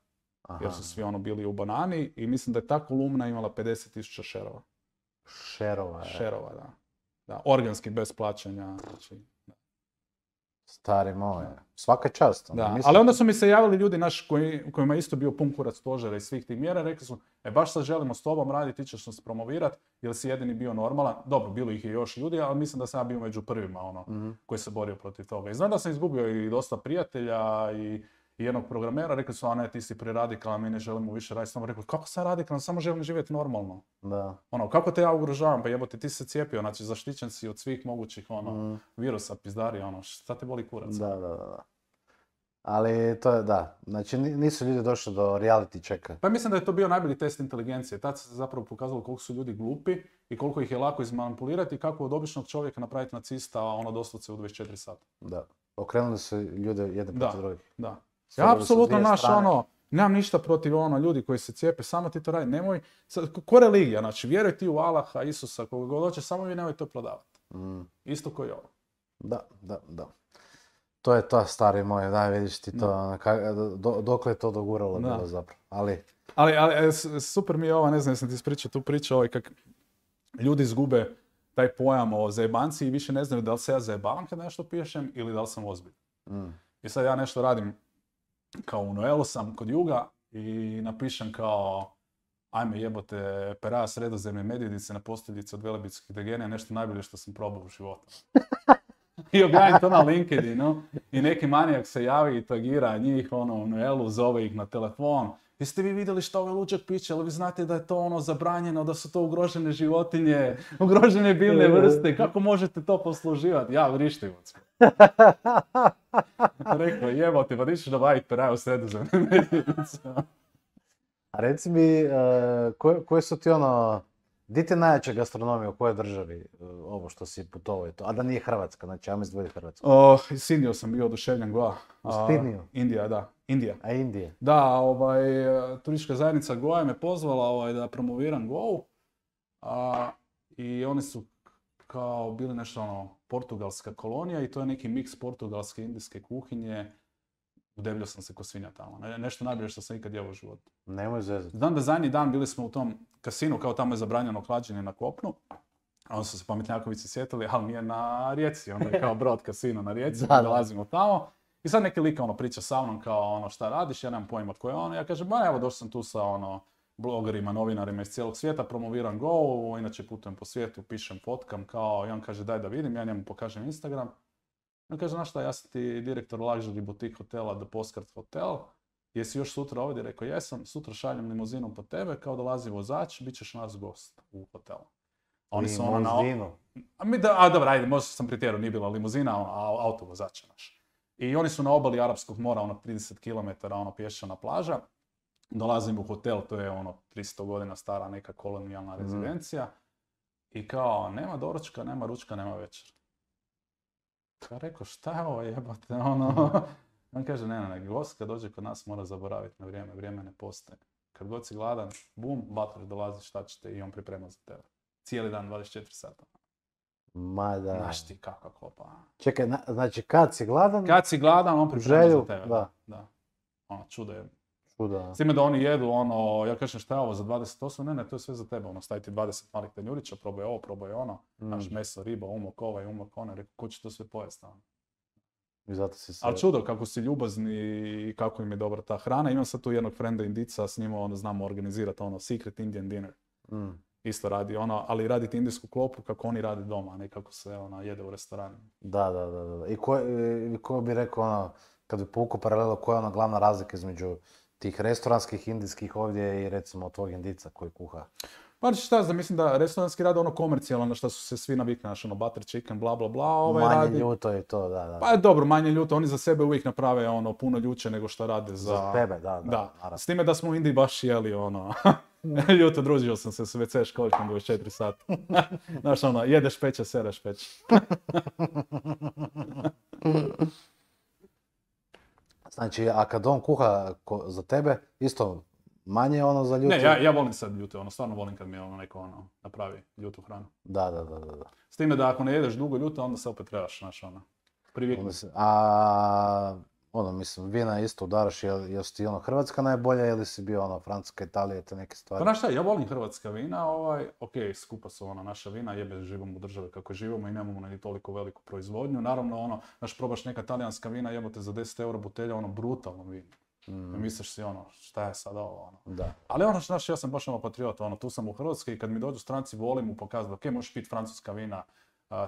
jer su svi bili u banani i mislim da je ta kolumna imala 50.000 šerova. Šerova, Šerova, da. Da, organski, bez plaćanja. Znači, Stari moj, svaka čast. da, ali onda su mi se javili ljudi naši kojima je isto bio pun kurac stožera i svih tih mjera, rekli su, baš sad želimo s tobom raditi, ti ćeš nas promovirat, jer si jedini bio normalan. Dobro, bilo ih je još ljudi, ali mislim da sam ja bio među prvima, koji se borio protiv toga. I znam da sam izgubio i dosta prijatelja i jednog programera, rekli su, a ne, ti si preradikalan, mi ne želimo više raditi. Samo rekli, kako sam radikalan, samo želim živjeti normalno. Da. Kako te ja ugrožavam, pa jebote, ti se cijepio, znači zaštićen si od svih mogućih virusa, pizdari, šta te boli kurac? Da. Ali to je, da, znači nisu ljudi došli do reality checka. Pa mislim da je to bio najbolji test inteligencije. Tad se zapravo pokazalo koliko su ljudi glupi i koliko ih je lako izmanipulirati i kako od običnog čovjeka napraviti nacista, doslovce u 24 sata. Da, okrenuli su ljude jedne protiv drugih. Da. Ja apsolutno nemam ništa protiv ljudi koji se cijepe, samo ti to radi, nemoj, ko religija, znači vjeruj ti u Allaha, Isusa, koga god hoće, samo vi nemoj to prodavati. Isto koji ovo. Da. To je to, stari moj, da, vidiš ti to, dokle je to doguralo bilo zapravo, Ali super mi je ova, ne znam, jesam ti ispričao tu priču, kak ljudi izgube taj pojam o zajebanci i više ne znaju da li se ja zajebavam kad nešto pišem ili da li sam ozbiljan. I sad ja nešto radim, kao u Noelu sam kod Juga i napišem kao ajme jebote, pera sredozemne medvjedice na posteljici od velebitskih degenija, nešto najbolje što sam probao u životu. I objavim to na LinkedInu i neki manijak se javi i tagira njih u Noelu, zove ih na telefon. Jeste vi vidjeli što ovaj luđak piće, ali vi znate da je to zabranjeno, da su to ugrožene životinje, ugrožene biljne vrste, kako možete to posluživati? Ja vrištivac. Rekao, jebote, pa ti ćeš dobaviti peraju sredozemne medvjedice. A reci mi, koje su ti di ti najjača gastronomija u kojoj državi ovo što si putovao je to? A da nije Hrvatska, znači ajmo izdvojiti Hrvatsku. Iz Indije sam bio oduševljen, Goa. U Sidniju? Indija, da. Indija. A Indije? Da, turistička zajednica Goa me pozvala da promoviram Goa. I oni su kao bili nešto portugalska kolonija i to je neki miks portugalske i indijske kuhinje. Udebljio sam se ko svinja tamo. Nešto najbolje što sam ikad jeo u životu. Nemoj zezati. Znam da zadnji dan bili smo u tom kasinu, kao tamo je zabranjeno hlađenje na kopnu. A onda su se pametnjakovici sjetili, ali mi je na Rijeci, onda je kao Brod kasino na Rijeci, dolazimo tamo. I sad neki lik priča sa mnom kao šta radiš, ja nemam pojma tko je on. Ja kažem, evo došao sam tu sa blogerima, novinarima iz cijelog svijeta, promoviram Go, inače putujem po svijetu, pišem, fotkam kao, i on kaže daj da vidim, ja njemu pokažem Instagram. On kaže, znaš šta, ja sam ti direktor luxury boutique hotela The Postcard Hotel, jesi još sutra ovdje? Rekao, jesam, sutra šaljem limuzinom po tebe, kao dolazi vozač, bit ćeš nas gost u hotelu. Oni su limuzinu? Dobro, ajde, možda sam pretjerao, nije bila limuzina, auto vozača naš. I oni su na obali Arapskog mora, 30 km, pješčana plaža. Dolazim u hotel, to je 300 godina stara neka kolonijalna rezidencija. I kao, nema doručka, nema ručka, nema večer. Ja rekao, šta je ovo jebate, On kaže, ne, gost kad dođe kod nas mora zaboraviti na vrijeme, vrijeme ne postoje. Kad god si gladan, bum, butler dolazi, šta ćete i on priprema za tebe. Cijeli dan, 24 sata. Ma da. Znaš ti kako klopa. Čekaj, znači kad si gladan? Kad si gladan, on priprema za tebe. Da. Čudo je. Čudo. S time da oni jedu, ja kažem šta je ovo za 28, ne, to je sve za tebe, stavi ti 20 malih tanjurića, probaj ovo, probaj ono, naš meso, riba, umok ovaj, umok ono, rekao, ko će to sve pojesti? I zato si se... Ali čudo kako si ljubazni i kako im je dobra ta hrana. Imam sad tu jednog frenda Indica, s njima znamo organizirati Secret Indian Dinner. Isto radi ali raditi indijsku klopu kako oni rade doma, a ne kako se jede u restoranu. Da. I ko bi rekao, kad bi povukao paralelu, koja je glavna razlika između tih restoranskih indijskih ovdje i recimo tvojeg Indica koji kuha? Pa šta znam, mislim da restoranski rade komercijalno, na što su se svi navikli, butter chicken, bla bla bla. Manje ljuto je to, da. Pa dobro, manje ljuto, oni za sebe uvijek naprave puno ljuče nego što rade za tebe, da. S time da smo u Indiji baš jeli ljuto, družio sam se s WC školjkom 24 sata. Znaš jedeš peće, sereš peće. Znači, a kad on kuha za tebe, isto manje za ljutu? Ne, ja volim sad ljuto, stvarno volim kad mi neko napravi ljutu hranu. Da. S time da ako ne jedeš dugo ljuto, onda se opet trebaš, priviknuti. Ono, mislim, vina isto udaraš, jel si ti ono Hrvatska najbolja ili si bio ono Francuska, Italija, te neke Pa stvari? znaš šta, ja volim hrvatska vina, ok, skupa su naša vina, jebe živimo u državi kako živimo i nemamo ni toliko veliku proizvodnju. Naravno, znaš, probaš neka talijanska vina, jebote za 10 eura butelja, brutalno vino. I misliš si, šta je sad ovo, Da. Ali znaš, ja sam baš patriot, tu sam u Hrvatskoj i kad mi dođu stranci volim mu pokazati, ok, možeš piti francuska vina,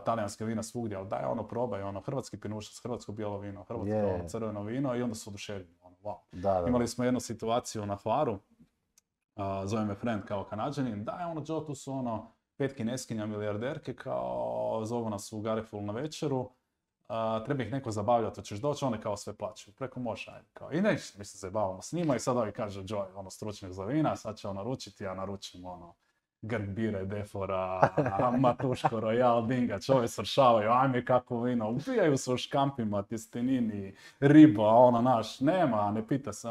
talijanska vina svugdje, ali daj probaj, hrvatski pinušac, hrvatsko bijelo vino, hrvatsko crveno vino i onda su oduševljeni, wow. Da. Imali smo jednu situaciju na Hvaru, zove me friend kao Kanađanin, daj Joe, tu su 5 kineskinja milijarderke, kao zovu nas u Gariful na večeru, treba ih neko zabavljati, hoćeš doći, one kao sve plaćaju, preko može, ajde, kao, i neće, mi se zabavamo s njima i sad ovi kaže Joe, stručnjak za vina, sad će naručiti, ja naručim, Grg bire, Defora, Matuško, Royal, Dingač, ove sršavaju, ajme kako vino, ubijaju se u škampima, tjestenini, riba, naš, nema, ne pita se,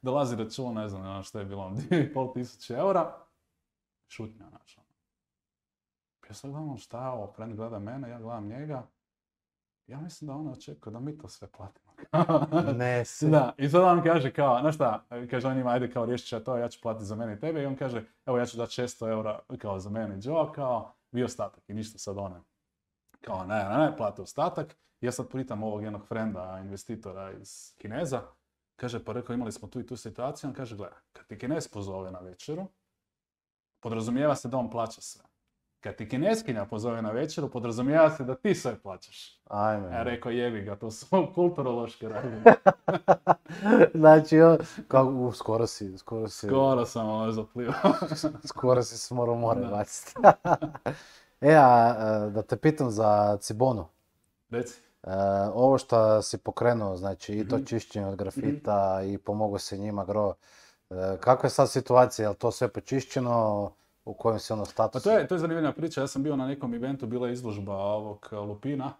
dolazi račun, ne znam što je bilo, 2.500 eura, šutnja, znaš, ja sad gledam šta je ovo, friend gleda mene, ja gledam njega, ja mislim da ona očekuje da mi to sve platimo. Ne si. Da, i sad on kaže kao, znaš šta, kaže on ima, ajde kao riješit će to, ja ću platiti za mene i tebe, i on kaže, evo ja ću dati 600 eura kao za mene i Joe, kao, vi ostatak, i ništa sad one. Kao, ne, plati ostatak. Ja sad pitam ovog jednog frenda, investitora iz Kineza, kaže, pa rekao, imali smo tu i tu situaciju, on kaže, gledaj, kad ti Kinez pozove na večeru, podrazumijeva se da on plaća sve. Kad ti Kineskinja pozove na večeru, podrazumijeva se da ti sve plaćaš. Ajme. Ja rekao, jebi ga, to su kulturološke razine. Znači, skoro sam zaplivao. Skoro si se morao more baciti. Da te pitam za Cibonu. Reci. Ovo što si pokrenuo, znači i to čišćenje od grafita i pomogu se njima gro. Kakva je sad situacija? Je li to sve počišćeno? U kojem si statusu? Pa to je zanimljiva priča. Ja sam bio na nekom eventu, bila je izložba ovog lupina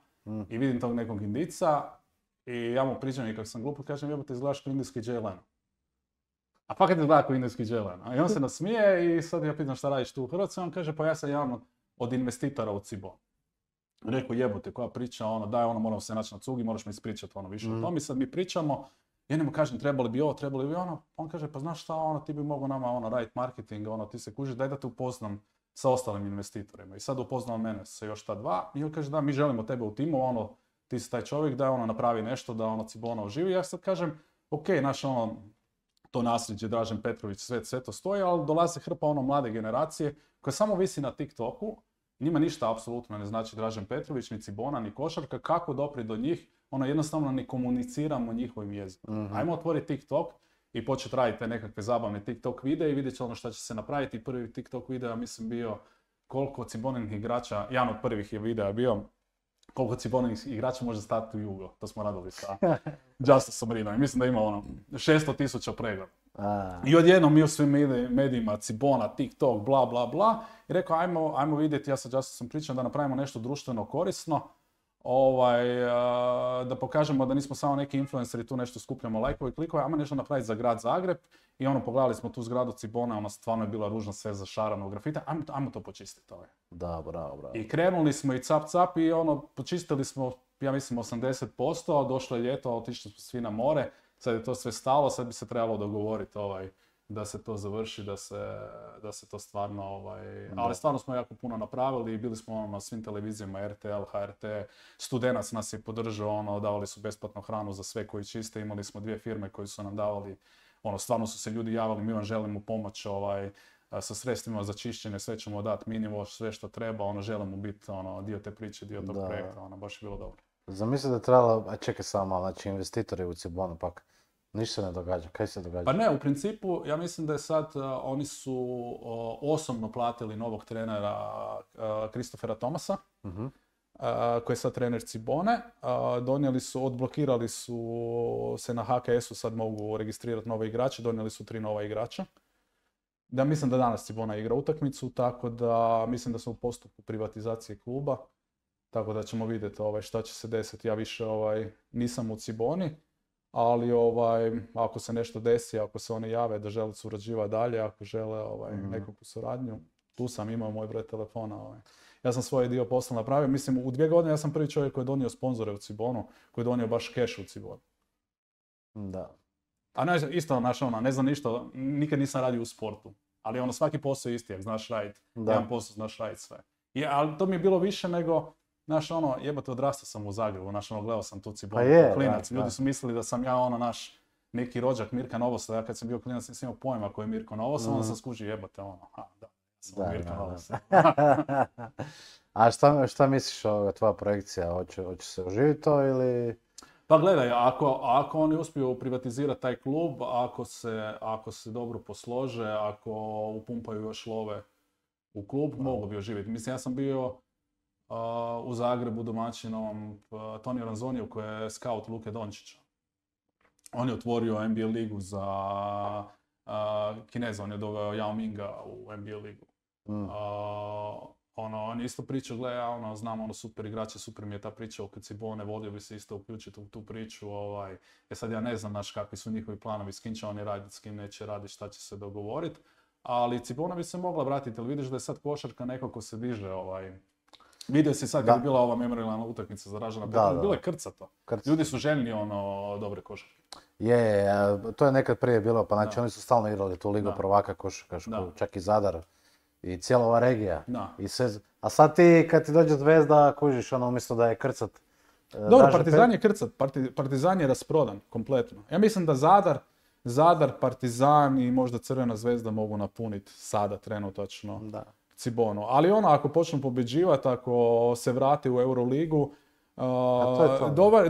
i vidim tog nekog Indica i ja mu pričam i kako sam glup, kažem, jebote, izgledaš kao indijski Jay Leno. A fakat izgleda kao indijski Jay Leno. I on se nasmije i sad ja pitam šta radiš tu u Hrvatskoj, on kaže, pa ja sam jedan od investitora u Cibon. Rekao, jebote, koja priča, daj, moramo se naći na cugi, moraš mi ispričati više o tom. I sad mi pričamo, ja njemu kažem, trebali bi ovo, trebali bi ono. On kaže, pa znaš šta, ti bi mogao nama raditi marketing, ti se kužiš, daj da te upoznam sa ostalim investitorima. I sad upoznao mene sa još ta dva i on kaže, da, mi želimo tebe u timu, ti si taj čovjek, da napravi nešto, da Cibona oživi. Ja sad kažem, ok, naš to nasljeđe, Dražen Petrović, sve to stoji, ali dolazi hrpa mlade generacije koja samo visi na TikToku. Njima ništa apsolutno ne znači Dražen Petrović, ni Cibona, ni košarka, kako doprijeti do njih, jednostavno ne komuniciramo njihovim jezikom. Ajmo otvoriti TikTok i početi raditi te nekakve zabavne TikTok videe i vidjet će šta će se napraviti. Prvi TikTok video, mislim, bio koliko Ciboninih igrača, jedan od prvih je videa bio, koliko Ciboninih igrača može stati u Jugo. To smo radili sa Justiceom Rinom i mislim da ima 600,000 pregleda. I odjednom mi u svim medijima, Cibona, TikTok, bla bla bla, i rekao ajmo vidjeti, ja sa Justiceom pričam da napravimo nešto društveno korisno, da pokažemo da nismo samo neki influenceri, tu nešto skupljamo lajkove i klikove, ajmo nešto napraviti za grad Zagreb i pogledali smo tu zgradu Cibona, stvarno je bila ružna, sve zašarano u grafite, ajmo to počistiti. Da, bravo. I krenuli smo i cap i počistili smo, ja mislim 80%, došlo je ljeto, otišli smo svi na more, sad je to sve stalo, sad bi se trebalo dogovoriti da se to završi, da se to stvarno, ali stvarno smo jako puno napravili i bili smo na svim televizijama, RTL, HRT, Studenac nas je podržao, davali su besplatnu hranu za sve koji čiste, imali smo 2 firme koji su nam davali, stvarno su se ljudi javili, mi vam želimo pomoć, sa sredstvima za čišćenje, sve ćemo dati minimum, sve što treba, želimo biti dio te priče, dio tog projekta, baš je bilo dobro. Zamisli da je trebalo, čekaj samo, znači investitori u Cibonu pak, ništa se ne događa, kaj se događa? Pa ne, u principu, ja mislim da je sad, oni su osobno platili novog trenera Kristofera Thomasa, koji je sad trener Cibone, odblokirali su se na HKS-u, sad mogu registrirati nove igrače, donijeli su 3 nova igrača. Da, mislim da danas Cibona igra utakmicu, tako da mislim da smo u postupku privatizacije kluba, tako da ćemo vidjeti šta će se desiti. Ja više nisam u Ciboni, ali ako se nešto desi, ako se oni jave da žele surađivati dalje, ako žele nekakvu suradnju, tu sam imao moj broj telefona. Ja sam svoj dio posla napravio, mislim u 2 godine ja sam prvi čovjek koji je donio sponzore u Cibonu, koji je donio baš cash u Cibonu. Da. A isto, ne znam ništa, nikad nisam radio u sportu. Ali svaki posao je isti, jak znaš raditi. Jedan posao znaš raditi sve. Ali to mi je bilo više nego, jebote, odrastao sam u Zagrebu, gledao sam tu Cibonu, klinac. Ljudi su mislili da sam ja neki rođak Mirka Novosa, ja kad sam bio klinac nisam imao pojma koji je Mirko Novos, onda sam skužio jebote, da, sam Mirko Novos. A šta misliš o tvoja projekcija, hoće se oživiti to ili... Pa gledaj, ako oni uspiju privatizirati taj klub, ako se dobro poslože, ako upumpaju još love u klub, mogu bi oživjeti. Mislim, ja sam bio u Zagrebu domaćinom Toni Ranzoniju koji je scout Luke Dončića. On je otvorio NBA ligu za Kineza, on je doveo Yao Minga u NBA ligu. On je isto pričao, gledaj, znam, super igrače, super mi je ta priča oko Cibone, volio bi se isto uključiti u tu priču, sad ja ne znam, kakvi su njihovi planovi, s kim će oni raditi, s kim neće raditi, šta će se dogovoriti, ali Cibona bi se mogla vratiti, ali vidiš da je sad košarka nekako se diže, vidio si sad kad je bila ova memorijalna utakmica za Dražena Petrovića, bilo je krcato. Ljudi su željni dobre košarke. To je nekad prije bilo, pa znači oni su stalno igrali tu ligu prvaka košarkašku, čak i Zadar. I cijela ova regija. I sve... A sad ti, kad ti dođe Zvezda, kužiš umjesto da je krcat... Dobro, Partizan je krcat. Partizan je rasprodan, kompletno. Ja mislim da Zadar, Partizan i možda Crvena Zvezda mogu napuniti sada trenutačno Cibonu. Ali ako počnu pobjeđivati, ako se vrati u Euroligu,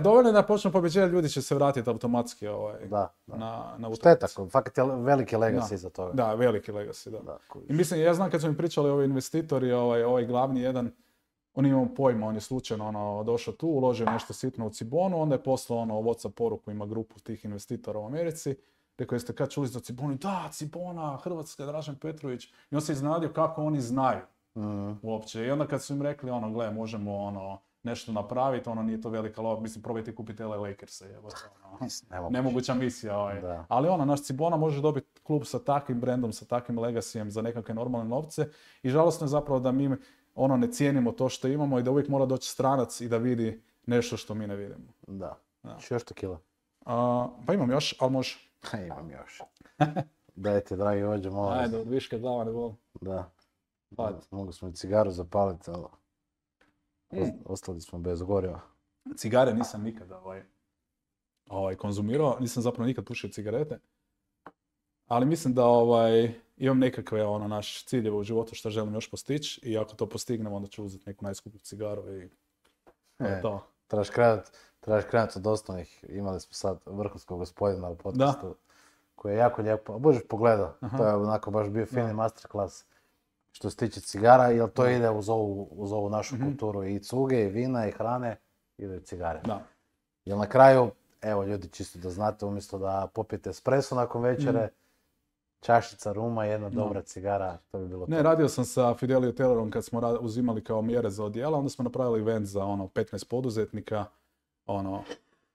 dovoljno da počnu pobjeđivati, ljudi će se vratiti automatski na utakmicu. Šteta, fakat je veliki legacy za toga. Da, veliki legacy, da. I mislim, ja znam kad su mi pričali ovi investitori, ovaj glavni jedan, on imao pojma, on je slučajno došao tu, uložio nešto sitno u Cibonu, onda je poslao WhatsApp poruku, ima grupu tih investitora u Americi, rekao, jeste kad čuli za Cibonu? Da, Cibona, Hrvatska, Dražen Petrović. I on se iznenadio kako oni znaju uopće. I onda kad su im rekli, gle, možemo nešto napraviti, nije to velika lova, mislim, probajte kupiti LA Lakers-a, nemoguća misija. Ali naš Cibona može dobiti klub sa takvim brendom, sa takvim legacyjem za nekakve normalne novce i žalostno je zapravo da mi ne cijenimo to što imamo i da uvijek mora doći stranac i da vidi nešto što mi ne vidimo. Da. Još to kila? Pa imam još, ali može. Imam još. Dajte, dragi vođe, molim vas. Ajde, od viške glava ne volim. Da. Mogu smo i cigaru zapaliti, ali... Ostali smo bez goriva. Cigare nisam nikada konzumirao, nisam zapravo nikad pušio cigarete. Ali mislim da imam nekakve naš ciljeve u životu što želim još postići i ako to postignem onda ću uzeti neku najskuplju cigaru i to. Trebaš krenuti od osnovnih. Imali smo sad vrhunskog gospodina u podcastu koji je jako lijepo. Bože pogledao, to je onako baš bio fini masterclass. Što se tiče cigara, jer to ide uz ovu našu kulturu i cuge, i vina, i hrane, ide cigare. Jer na kraju, evo ljudi, čisto da znate, umjesto da popijete espresso nakon večere, čašica ruma, jedna dobra cigara, to bi bilo to. Ne, radio sam sa Fidelio Taylorom kad smo uzimali kao mjere za odjela, onda smo napravili event za 15 poduzetnika,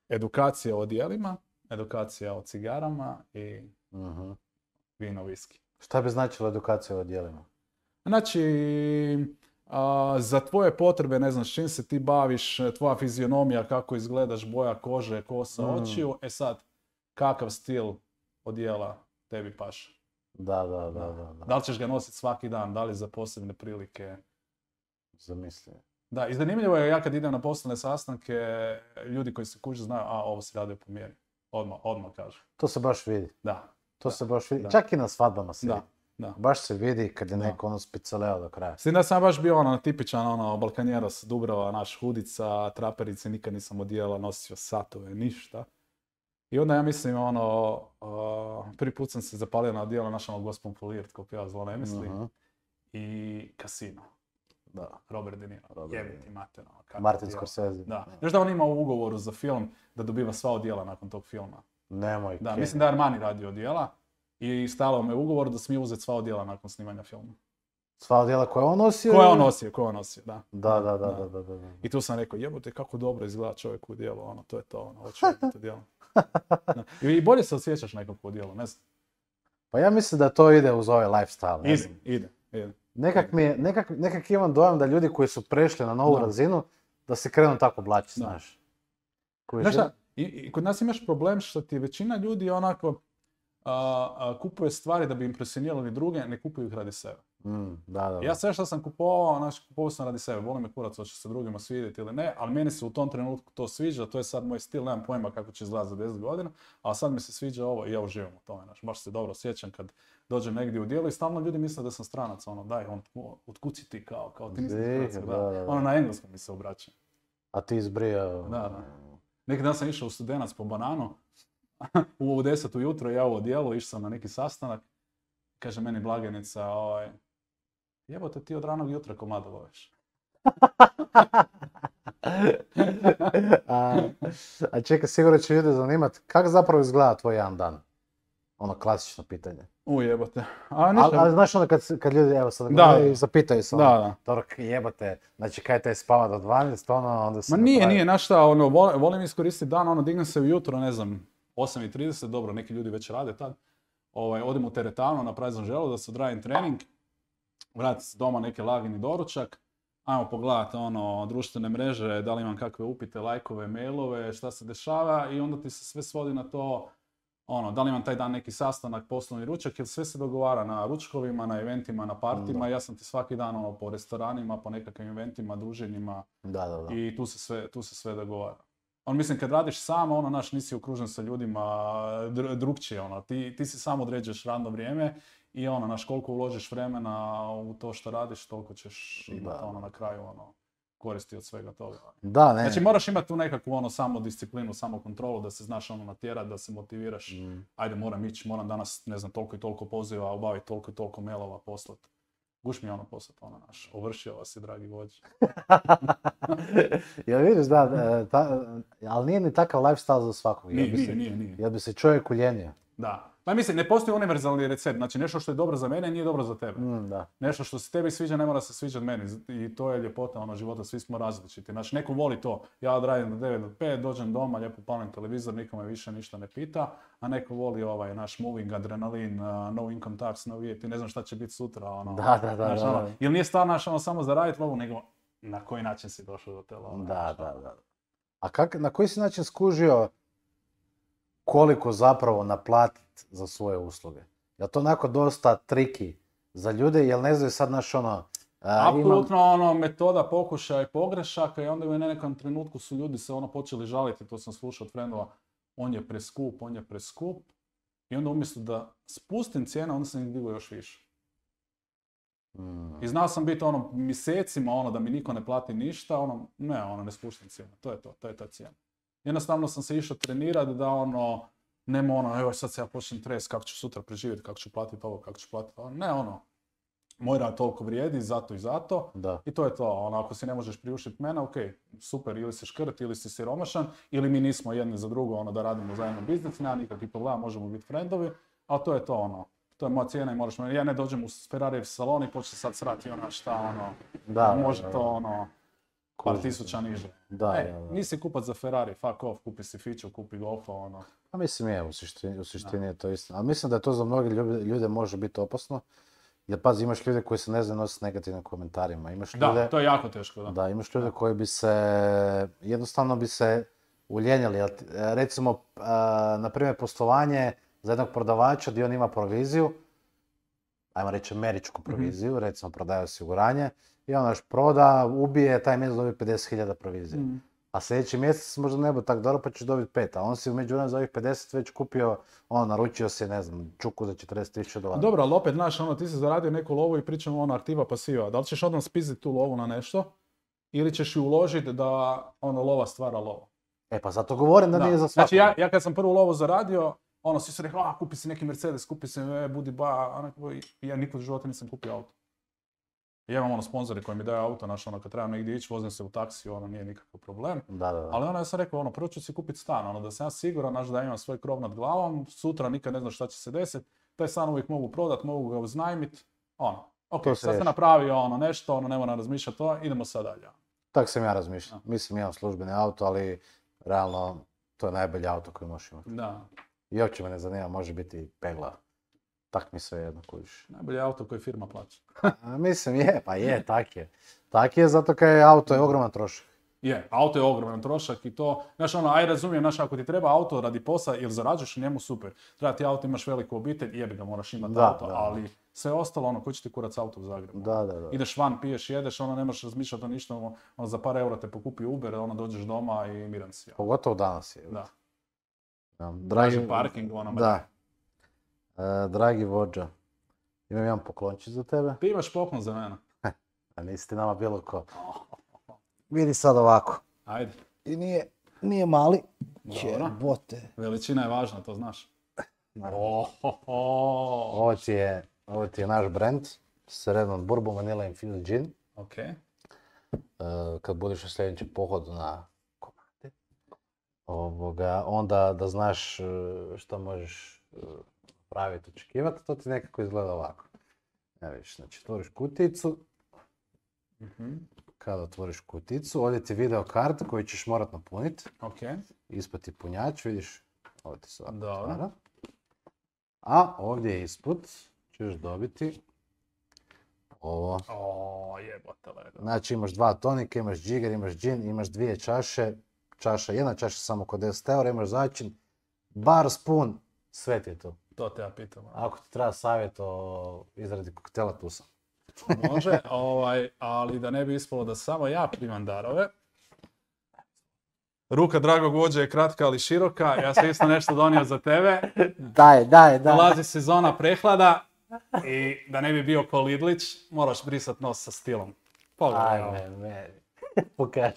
edukacija o odjelima, edukacija o cigarama i vino, viski. Šta bi značilo edukacija o odjelima? Znači, za tvoje potrebe, ne znam s čim se ti baviš, tvoja fizionomija, kako izgledaš, boja kože, kosa, očiju, sad, kakav stil odjela tebi paše? Da. Da li ćeš ga nositi svaki dan, da li za posebne prilike? Zamisli. Da, i zanimljivo je, ja kad idem na poslovne sastanke, ljudi koji se kuže znaju, ovo se radi po mjeri. Odmah kažu. To se baš vidi. Da. To se baš vidi. Čak i na svadbama se vidi. Da. Baš se vidi kad je neko spicaleo do kraja. S tim da sam baš bio tipičan balkanjeros, Dubrava, naš hudica, traperice, nikad nisam odijela, nosio satove, ništa. I onda ja mislim, prvi put sam se zapalio na odijelo našom Gospon Folirt, ko pjeva Zlo ne misli, i Casino. Da. Robert De Niro. Jebiti mater. Martin Scorsese. Da. Znaš da on ima u ugovoru za film da dobiva sva odijela nakon tog filma? Nemoj. Da, mislim da je Armani radio odijela. I stalo me ugovor da smije uzeti sva odjela nakon snimanja filma. Sva odjela koje on nosio? Koje on nosio, da. Da. I tu sam rekao, jebote, kako dobro izgleda čovjek u odjelu, to je to, hoću vidjeti odjelo. I bolje se osjećaš nekako u odjelu, ne znam. Pa ja mislim da to ide uz ovaj lifestyle. Ide. Nekak imam dojam da ljudi koji su prešli na novu razinu, da se krenu tako oblačiti, znaš. Znaš šta, I kod nas imaš problem što ti većina ljudi onako kupuje stvari da bi impresionirali druge, ne kupuju ih radi sebe. Da. Ja sve što sam kupovao, kupovao sam radi sebe. Volim me kurac, hoće se drugima svidjeti ili ne, ali meni se u tom trenutku to sviđa, to je sad moj stil, nemam pojma kako će izgledati za 10 godina, ali sad mi se sviđa ovo i ja uživam u tome. Baš se dobro sjećam kad dođem negdje u dijelu i stalno ljudi misle da sam stranac, daj, otkud si ti kao ti nisi stranac, da. Na engleskom mi se obraća. A ti izbrijao. Da. Neki dan sam išao u Studenac po bananu, u 10 ujutro ja u odijelu, išao sam na neki sastanak, kaže meni blagajnica, jebote ti od ranog jutra ko mlado loviš. A čekaj, sigurno će ljude zanimati, kako zapravo izgleda tvoj jedan dan? Ono klasično pitanje. Jebote. Ali znaš ono kad ljudi, evo sad gledaju i zapitaju se, dobro, jebote, znači kaj te spava do 12, onda se... Ma nije, znaš šta, volim iskoristiti dan, dignem se ujutro, ne znam, 8:30, dobro, neki ljudi već rade tad, odem u teretanu, napravim sam želo da se odradim trening, vratim se doma neki lagani doručak, ajmo pogledati društvene mreže, da li imam kakve upite, lajkove, mailove, šta se dešava i onda ti se sve svodi na to, da li imam taj dan neki sastanak, poslovni ručak, jer sve se dogovara na ručkovima, na eventima, na partima, ja sam ti svaki dan po restoranima, po nekakvim eventima, druženjima i tu se sve dogovara. Mislim, kad radiš sam, nisi okružen sa ljudima drugčije, ti si sam određuješ radno vrijeme i koliko uložiš vremena u to što radiš, toliko ćeš imati na kraju koristi od svega toga. Da, ne. Znači moraš imati tu nekakvu samodisciplinu, samokontrolu, da se znaš natjerat, da se motiviraš. Ajde, moram ići, moram danas, ne znam, toliko i toliko poziva, obaviti toliko i toliko mailova, poslati. Guš mi poslati, ovršio vas i dragi vođe. Jel vidiš, ali nije ni takav lifestyle za svakog. Nije. Jel bi se čovjek uljenio? Da. Pa mislim, ne postoji univerzalni recept. Znači, nešto što je dobro za mene nije dobro za tebe. Nešto što se tebi sviđa ne mora se sviđati meni. I to je ljepota života, svi smo različiti. Znači, neko voli to. Ja odradim do 9 do 5, dođem doma, lijepo palim televizor, nikome više ništa ne pita. A neko voli naš moving, adrenalin, no income tax, no VAT, ne znam šta će biti sutra. Da. Jer nije stvar samo zaraditi lovu, nego na koji način si došao do te love. Da. A na koji si način skužio koliko zapravo naplatiti za svoje usluge? Je to onako dosta triki za ljude, jel ne znaju sad apsolutno metoda pokušaja i pogrešaka i onda u nekom trenutku su ljudi se počeli žaliti, to sam slušao od frendova, on je preskup i onda umjesto da spustim cijene, onda sam ih digao još više. I znao sam biti mjesecima da mi niko ne plati ništa, ne spuštam cijenu, to je ta cijena. Jednostavno sam se išao trenirati da nema evo sad se ja počnem trest, kako ću sutra preživjeti, kako ću platiti ovo, kako ću platiti ovo. Ne moj rad toliko vrijedi, zato i zato. Da. I to je to. Ako si ne možeš priuštiti mene, ok, super, ili si škrt, ili si siromašan, ili mi nismo jedni za drugo, da radimo zajedno biznis, nema nikakvih problema, možemo biti frendovi, ali to je to, to je moja cijena i moraš me, ja ne dođem u Ferrarijev salon i počne sad srati može to par tisuća niže. Da. Nisi kupac za Ferrari, fuck off, kupi si Fiću, kupi Golfa, A mislim u suštini je to istina. Ali mislim da je to za mnoge ljude može biti opasno. Jer pazi, imaš ljude koji se ne znaju nositi s negativnim komentarima. Da, to je jako teško, da. Da, imaš ljude koji bi se, jednostavno bi se uljenjali. Recimo, na primjer, poslovanje za jednog prodavača gdje on ima proviziju, ajmo reći američku proviziju, recimo prodaje osiguranje, i on proda, ubije, taj mjesec dobije 50.000 provizije. A sljedeći mjesec možda ne bude tako dobro pa ćeš dobiti 5, a on si u međuvremenu za ovih 50 već kupio, naručio si, ne znam, čuku za $40,000. Dobro, ali opet, znaš, ti si zaradio neku lovu i pričamo aktiva pasiva. Da li ćeš odmah spiziti tu lovu na nešto ili ćeš ju uložiti da lova stvara lovu? Pa zato govorim da nije za svakog. Znači ja kad sam prvu lovu zaradio, svi su rekli, kupi si neki Mercedes, kupi si budi ba, ja nikad u životu nisam kupio auto. Ja imam sponzori koji mi daju auto, kad trebam negdje ići, vozim se u taksi, nije nikakav problem. Da. Ali ja sam rekao, prvo ću si kupiti stan, da sam ja siguran, da imam svoj krov nad glavom, sutra nikad ne znam šta će se desiti, taj stan uvijek mogu prodat, mogu ga uznajmit, ok, sad se napravio nešto, ne moram razmišljati to, idemo sad dalje. Tako sam ja razmišljao. Mislim, imam službeni auto, ali realno to je najbolji auto koji možeš imati. Da. I uopće me ne zanima, može biti pegla. Tak mi sve jedno kužiš. Najbolji auto koji firma plaća. Mislim, tak je. Tak je, zato kaj auto je ogroman trošak. Je, auto je ogroman trošak i to, znaš ono, aj razumijem, znaš, ako ti treba auto radi posla ili zarađuješ u njemu, super. Treba ti auto, imaš veliku obitelj, jebi ga, moraš imati auto, ali sve ostalo, ono, ko će ti kurac auto u Zagrebu? Da. Ideš van, piješ, jedeš, ono, ne možeš razmišljati o ništa, ono, za par eura te pokupi Uber, ono, dođeš doma i miran si. Pogotovo danas je. Da. Dragi parking, ono, da. Dragi vođa, imam jedan poklončić za tebe. Ti imaš poklon za mene. A nisi ti nama bilo ko. Vidi sad ovako. Ajde. I nije mali. Dobro. Bote. Veličina je važna, to znaš. Ovo ti je naš brand. Sredan Bourbon Vanilla Infused Gin. Ok. Kad budeš u sljedećem pohodu na komade, onda da znaš što možeš praviti, očekivati, to ti nekako izgleda ovako. Evo viš, znači otvoriš kutijicu. Kada otvoriš kutijicu, ovdje ti video kart koju ćeš morat napuniti. Ok. Ispod ti punjač, vidiš, ovdje ti se ovako Dobro. stvara. A ovdje ispod ćeš dobiti ovo. Jebote ledo. Znači imaš 2 tonika, imaš džiger, imaš džin, imaš 2 čaše. Jedna čaša samo kod 10 eura, imaš začin, bar, spun, sve ti je tu. To te ja pitam. Ako ti treba savjet o izradi koktela, tu sam. Može, ali da ne bi ispalo da samo ja primam darove. Ruka dragog vođe je kratka ali široka, ja sam isto nešto donio za tebe. Daj. Dolazi sezona prehlada i da ne bi bio ko Lidlić, moraš brisat nos sa stilom. Pogledaj ovo. Ajme, meni. Pokaži.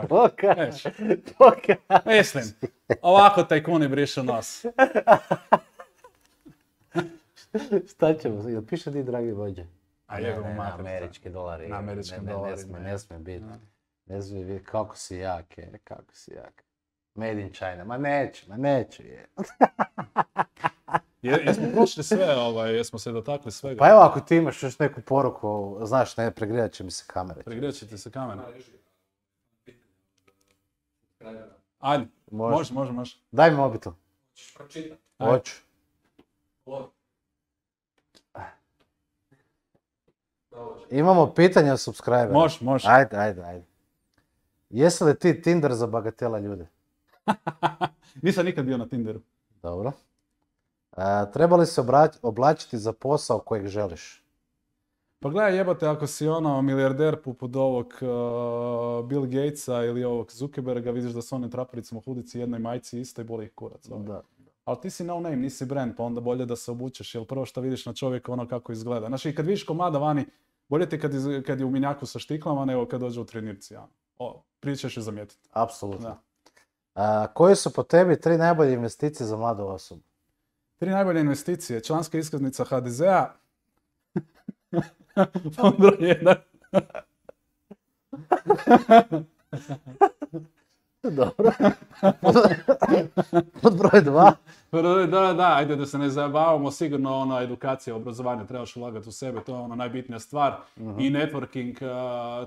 Pokaži. Mislim, ovako tajkuni brišu nos. Šta ćemo? Jel piše ti dragi vođe? A jebimo mater. Američki dolari. Na američkim dolarima. Ne smije biti. Ne smije biti. Kako si jak. Made in China. Ma neću. Jesmo prošli sve, jesmo se dotakli svega. Pa evo, ako ti imaš još neku poruku, znaš, ne, pregrijat će mi se kamera. Pregrijat će ti se kamera. Ajde, može. Daj mi mobitel. Hoćeš pročitati? Hoću. Imamo pitanja od subscribera. Može. Ajde. Jesi li ti Tinder za bagatela ljude? Nisam nikad bio na Tinderu. Dobro. Treba li se oblačiti za posao kojeg želiš? Pa gledaj jebote, ako si milijarder poput ovog Bill Gatesa ili ovog Zuckerberga, vidiš da su one trapericama hudici, jednoj majci isto i boli ih kurac. Da. Ali ti si no name, nisi brand, pa onda bolje da se obučeš, jer prvo što vidiš na čovjeka kako izgleda. Znači, i kad vidiš komada vani, bolje ti kad je u minjaku sa štiklama nego kad dođe u trenirci. Prije ćeš je zamijetiti. Apsolutno. Koje su po tebi 3 najbolje investicije za mladu osobu? 3 najbolje investicije. Članska iskaznica HDZ-a. Pod broj 1. Dobro. Pod broj 2. Da, ajde da se ne zabavamo, sigurno edukacija, obrazovanje, trebaš ulagati u sebe, to je najbitnija stvar. I networking,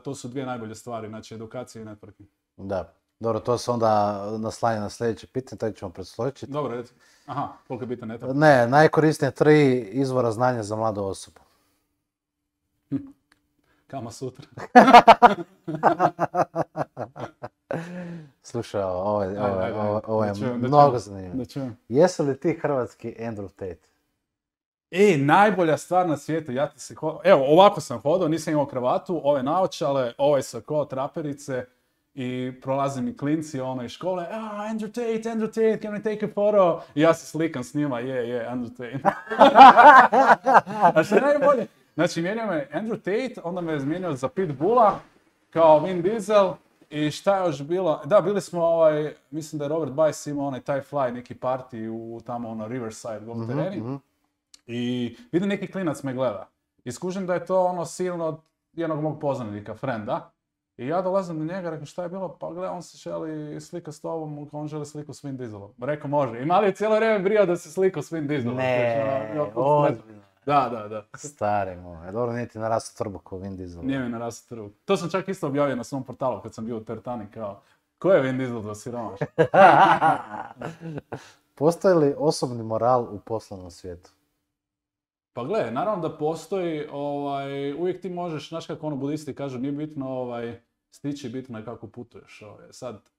to su 2 najbolje stvari, znači edukacija i networking. Da. Dobro, to se onda naslanja na sljedeće pitanje, taj ćemo predsločiti. Dobro, reci. Aha, koliko je bitan networking? Ne, najkorisnije 3 izvora znanja za mladu osobu. Kama sutra. Slušaj, ovo je mnogo zanimljivo. Jesi li ti hrvatski Andrew Tate? Najbolja stvar na svijetu, evo, ovako sam hodao, nisam imao kravatu, ove naočale, ovaj sako, traperice i prolaze mi klinci iz škole, Andrew Tate, can we take a photo? I ja se slikam s njima, Andrew Tate. A što je najbolje? Znači, mijenio me Andrew Tate, onda me je izmijenio za Pitbulla, kao Vin Diesel, i šta je još bilo? Da, bili smo, mislim da je Robert Bice imao taj fly, neki party u tamo Riverside golf tereni. I vidim neki klinac me gleda. I skužim da je to silno od jednog mog poznanika, frenda. I ja dolazim do njega, rekao šta je bilo? Pa gledaj, on se želi sliku s tobom, on želi sliku s Vin Dieselom. Rekao može. I mali je cijelo vrijeme brio da se sliku s Vin Dieselom. Ne, ozbiljno. Da. Stari moj, dobro nije ti narastao trbuh ko Vin Diesel. Nije mi narastao trbuh. To sam čak isto objavio na svom portalu kad sam bio u Tertani, kao, ko je Vin Diesel za siromaš? Postoji li osobni moral u poslovnom svijetu? Pa gle, naravno da postoji, uvijek ti možeš, znaš kako budisti kažu, nije bitno stići, bitno je kako putuješ. Sad,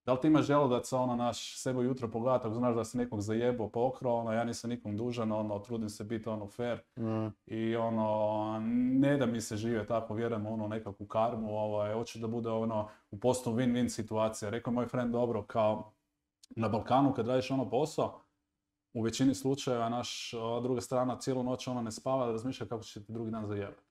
da li ti imaš želudac, naš sebe ujutro pogledati, ako znaš da si nekog zajebao, pokrao, ja nisam nikom dužan, trudim se biti fair. I ne da mi se žive tako, vjerujem nekakvu karmu, hoće da bude u poslu win-win situacija. Rekao moj friend, dobro, kao na Balkanu kad radiš posao, u većini slučajeva druga strana cijelu noć ne spava da razmišlja kako će ti drugi dan zajebati.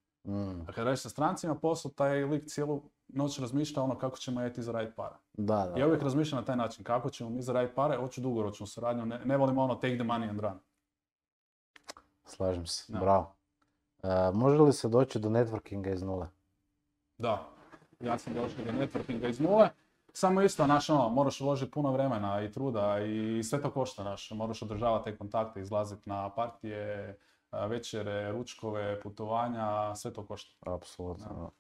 A kad radiš sa strancima posao, taj lik cijelu noć razmišlja kako ćemo ti zaraditi pare. Da. Ja uvijek razmišljam na taj način, kako ćemo mi zaraditi pare, hoću dugoročnu suradnju, ne volim take the money and run. Slažem se, bravo. Može li se doći do networkinga iz nule? Da, ja sam došao do networkinga iz nule. Samo isto, moraš uložiti puno vremena i truda i sve to košta, moraš održavati te kontakte, izlaziti na partije, večere, ručkove, putovanja, sve to košta. Apsolutno.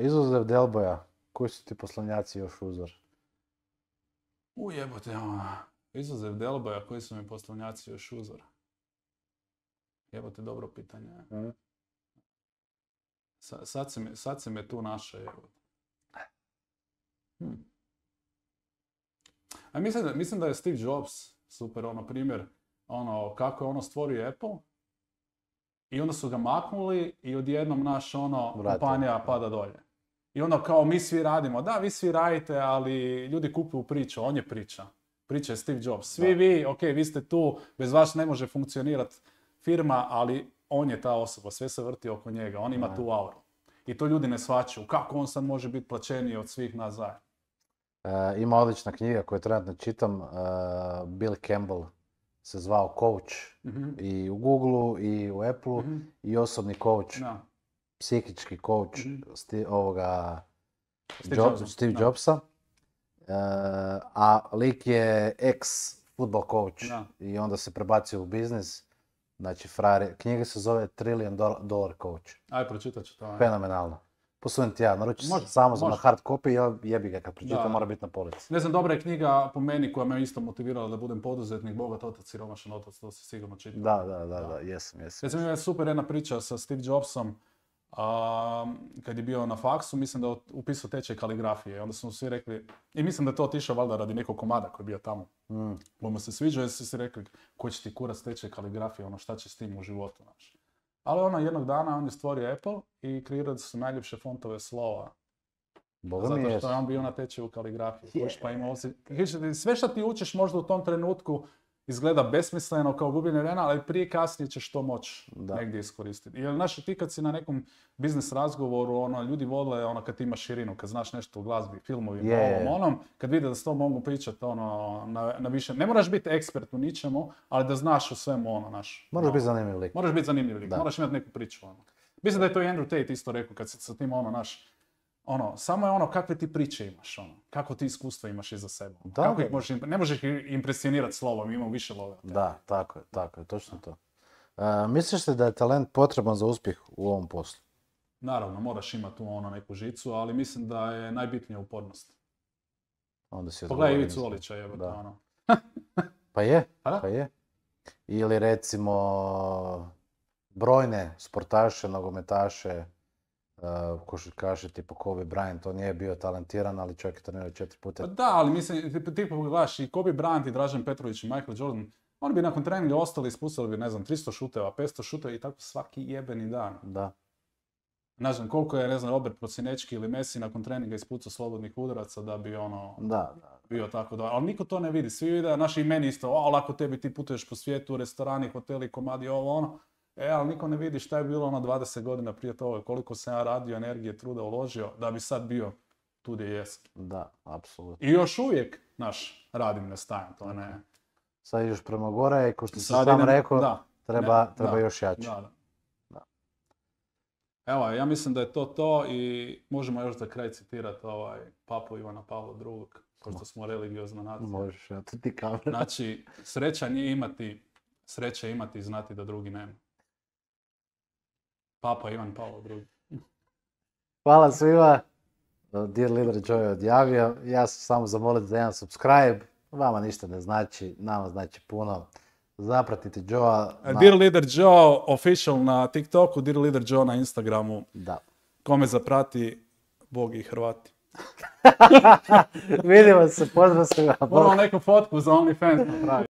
Izuzev Delboja, koji su ti poslanjaci još uzor? Jebote, izuzev Delboja, koji su mi poslanjaci još uzor? Jebote, dobro pitanje. Sad se me tu naša, jebote. A mislim da je Steve Jobs super primjer, kako je stvorio Apple i onda su ga maknuli i odjednom kompanija pada dolje. I onda kao mi svi radimo, da vi svi radite, ali ljudi kupuju priču, on je priča. Priča je Steve Jobs. Svi vi, vi ste tu, bez vas ne može funkcionirati firma, ali on je ta osoba, sve se vrti oko njega, on ima tu auru. I to ljudi ne shvaćaju, kako on sad može biti plaćeniji od svih nas zajedno. Ima odlična knjiga koju trenutno čitam, Bill Campbell se zvao Coach, i u Googleu i u Appleu, i osobni coach, psihički coach Steve Jobsa. A lik je ex-football coach i onda se prebacio u biznis. Znači, knjiga se zove $1 trillion coach. Aj, pročitat ću to. Fenomenalno. Posujem ti ja, naruči se samo za na hard copy, jebi ga kad pročitam, mora biti na polici. Ne znam, dobra je knjiga po meni koja me isto motivirala da budem poduzetnik, bogat otac, siromašan otac, to se sigurno čita. Da, jesam. Recimo, ima super jedna priča sa Steve Jobsom, kad je bio na faksu, mislim da je upisao tečaj kaligrafije. Onda su mu svi rekli, i mislim da je to otišao valjda radi nekog komada koji je bio tamo. Bo mu se sviđao jer su si rekli, ko će ti kurac tečaj kaligrafije, šta će s tim u životu, znaš. Ali jednog dana on je stvorio Apple i kreirali su najljepše fontove slova. Zato što je on bio na tečaju kaligrafije. Pa ima sve što ti učiš možda u tom trenutku izgleda besmisleno kao gubljenje vremena, ali prije kasnije ćeš to moći negdje iskoristiti. Jer znaš, ti kad si na nekom biznis razgovoru, ljudi vole kad imaš širinu, kad znaš nešto u glazbi, filmovima, kad vide da s to mogu pričati na više. Ne moraš biti ekspert u ničemu, ali da znaš o svemu Moraš biti zanimljiv lik. Moraš biti zanimljiv lik, moraš imati neku priču. Mislim da je to i Andrew Tate isto rekao kad se sa tim samo je kakve ti priče imaš, kako ti iskustva imaš iza sebe. Ne možeš ih impresionirati slovom, imamo više love. Da, tako je, točno to. Misliš li da je talent potreban za uspjeh u ovom poslu? Naravno, moraš imati tu neku žicu, ali mislim da je najbitnija upornost. Pogledaj Ivicu Olića, Pa je. Ili recimo brojne sportaše, nogometaše, košarkaše tipa Kobe Bryant, on nije bio talentiran, ali čovjek je trenirao 4 puta. Pa da, ali mislim, ti pogledaš i Kobe Bryant i Dražen Petrović i Michael Jordan, oni bi nakon treninga ostali, ispustili bi, 300 šuteva, 500 šuteva i tako svaki jebeni dan. Da. Ne znam, koliko je, Robert Prosinečki ili Messi nakon treninga ispucao slobodnih udaraca da bi bio tako da. Ali niko to ne vidi, svi vide, naši i meni isto, lako tebi, ti putuješ po svijetu, restorani, hoteli, komadi, ali niko ne vidi šta je bilo 20 godina prije toga, koliko sam ja radio, energije, truda uložio, da bi sad bio tu gdje jesam. Da, apsolutno. I još uvijek, radim, ne stajem, to ne. Sad ideš prema gore i ko što si sam rekao, treba još jače. Da. Evo, ja mislim da je to i možemo još za kraj citirati papu Ivana Pavla II, pošto smo religiozna nacija. Možeš, ja to ti kamera. Znači, sreća nije imati, sreća je imati i znati da drugi nema. Papa Ivan Pavlo II. Hvala svima. Dear Leader Joe je odjavio. Ja sam samo zamoliti za jedan subscribe. Vama ništa ne znači, nama znači puno. Zapratite Joe. Dear Leader Joe official na TikToku, Dear Leader Joe na Instagramu. Da. Kome zaprati, Bog i Hrvati. Vidimo se, pozdrav svima. Moramo neku fotku za OnlyFans napraviti.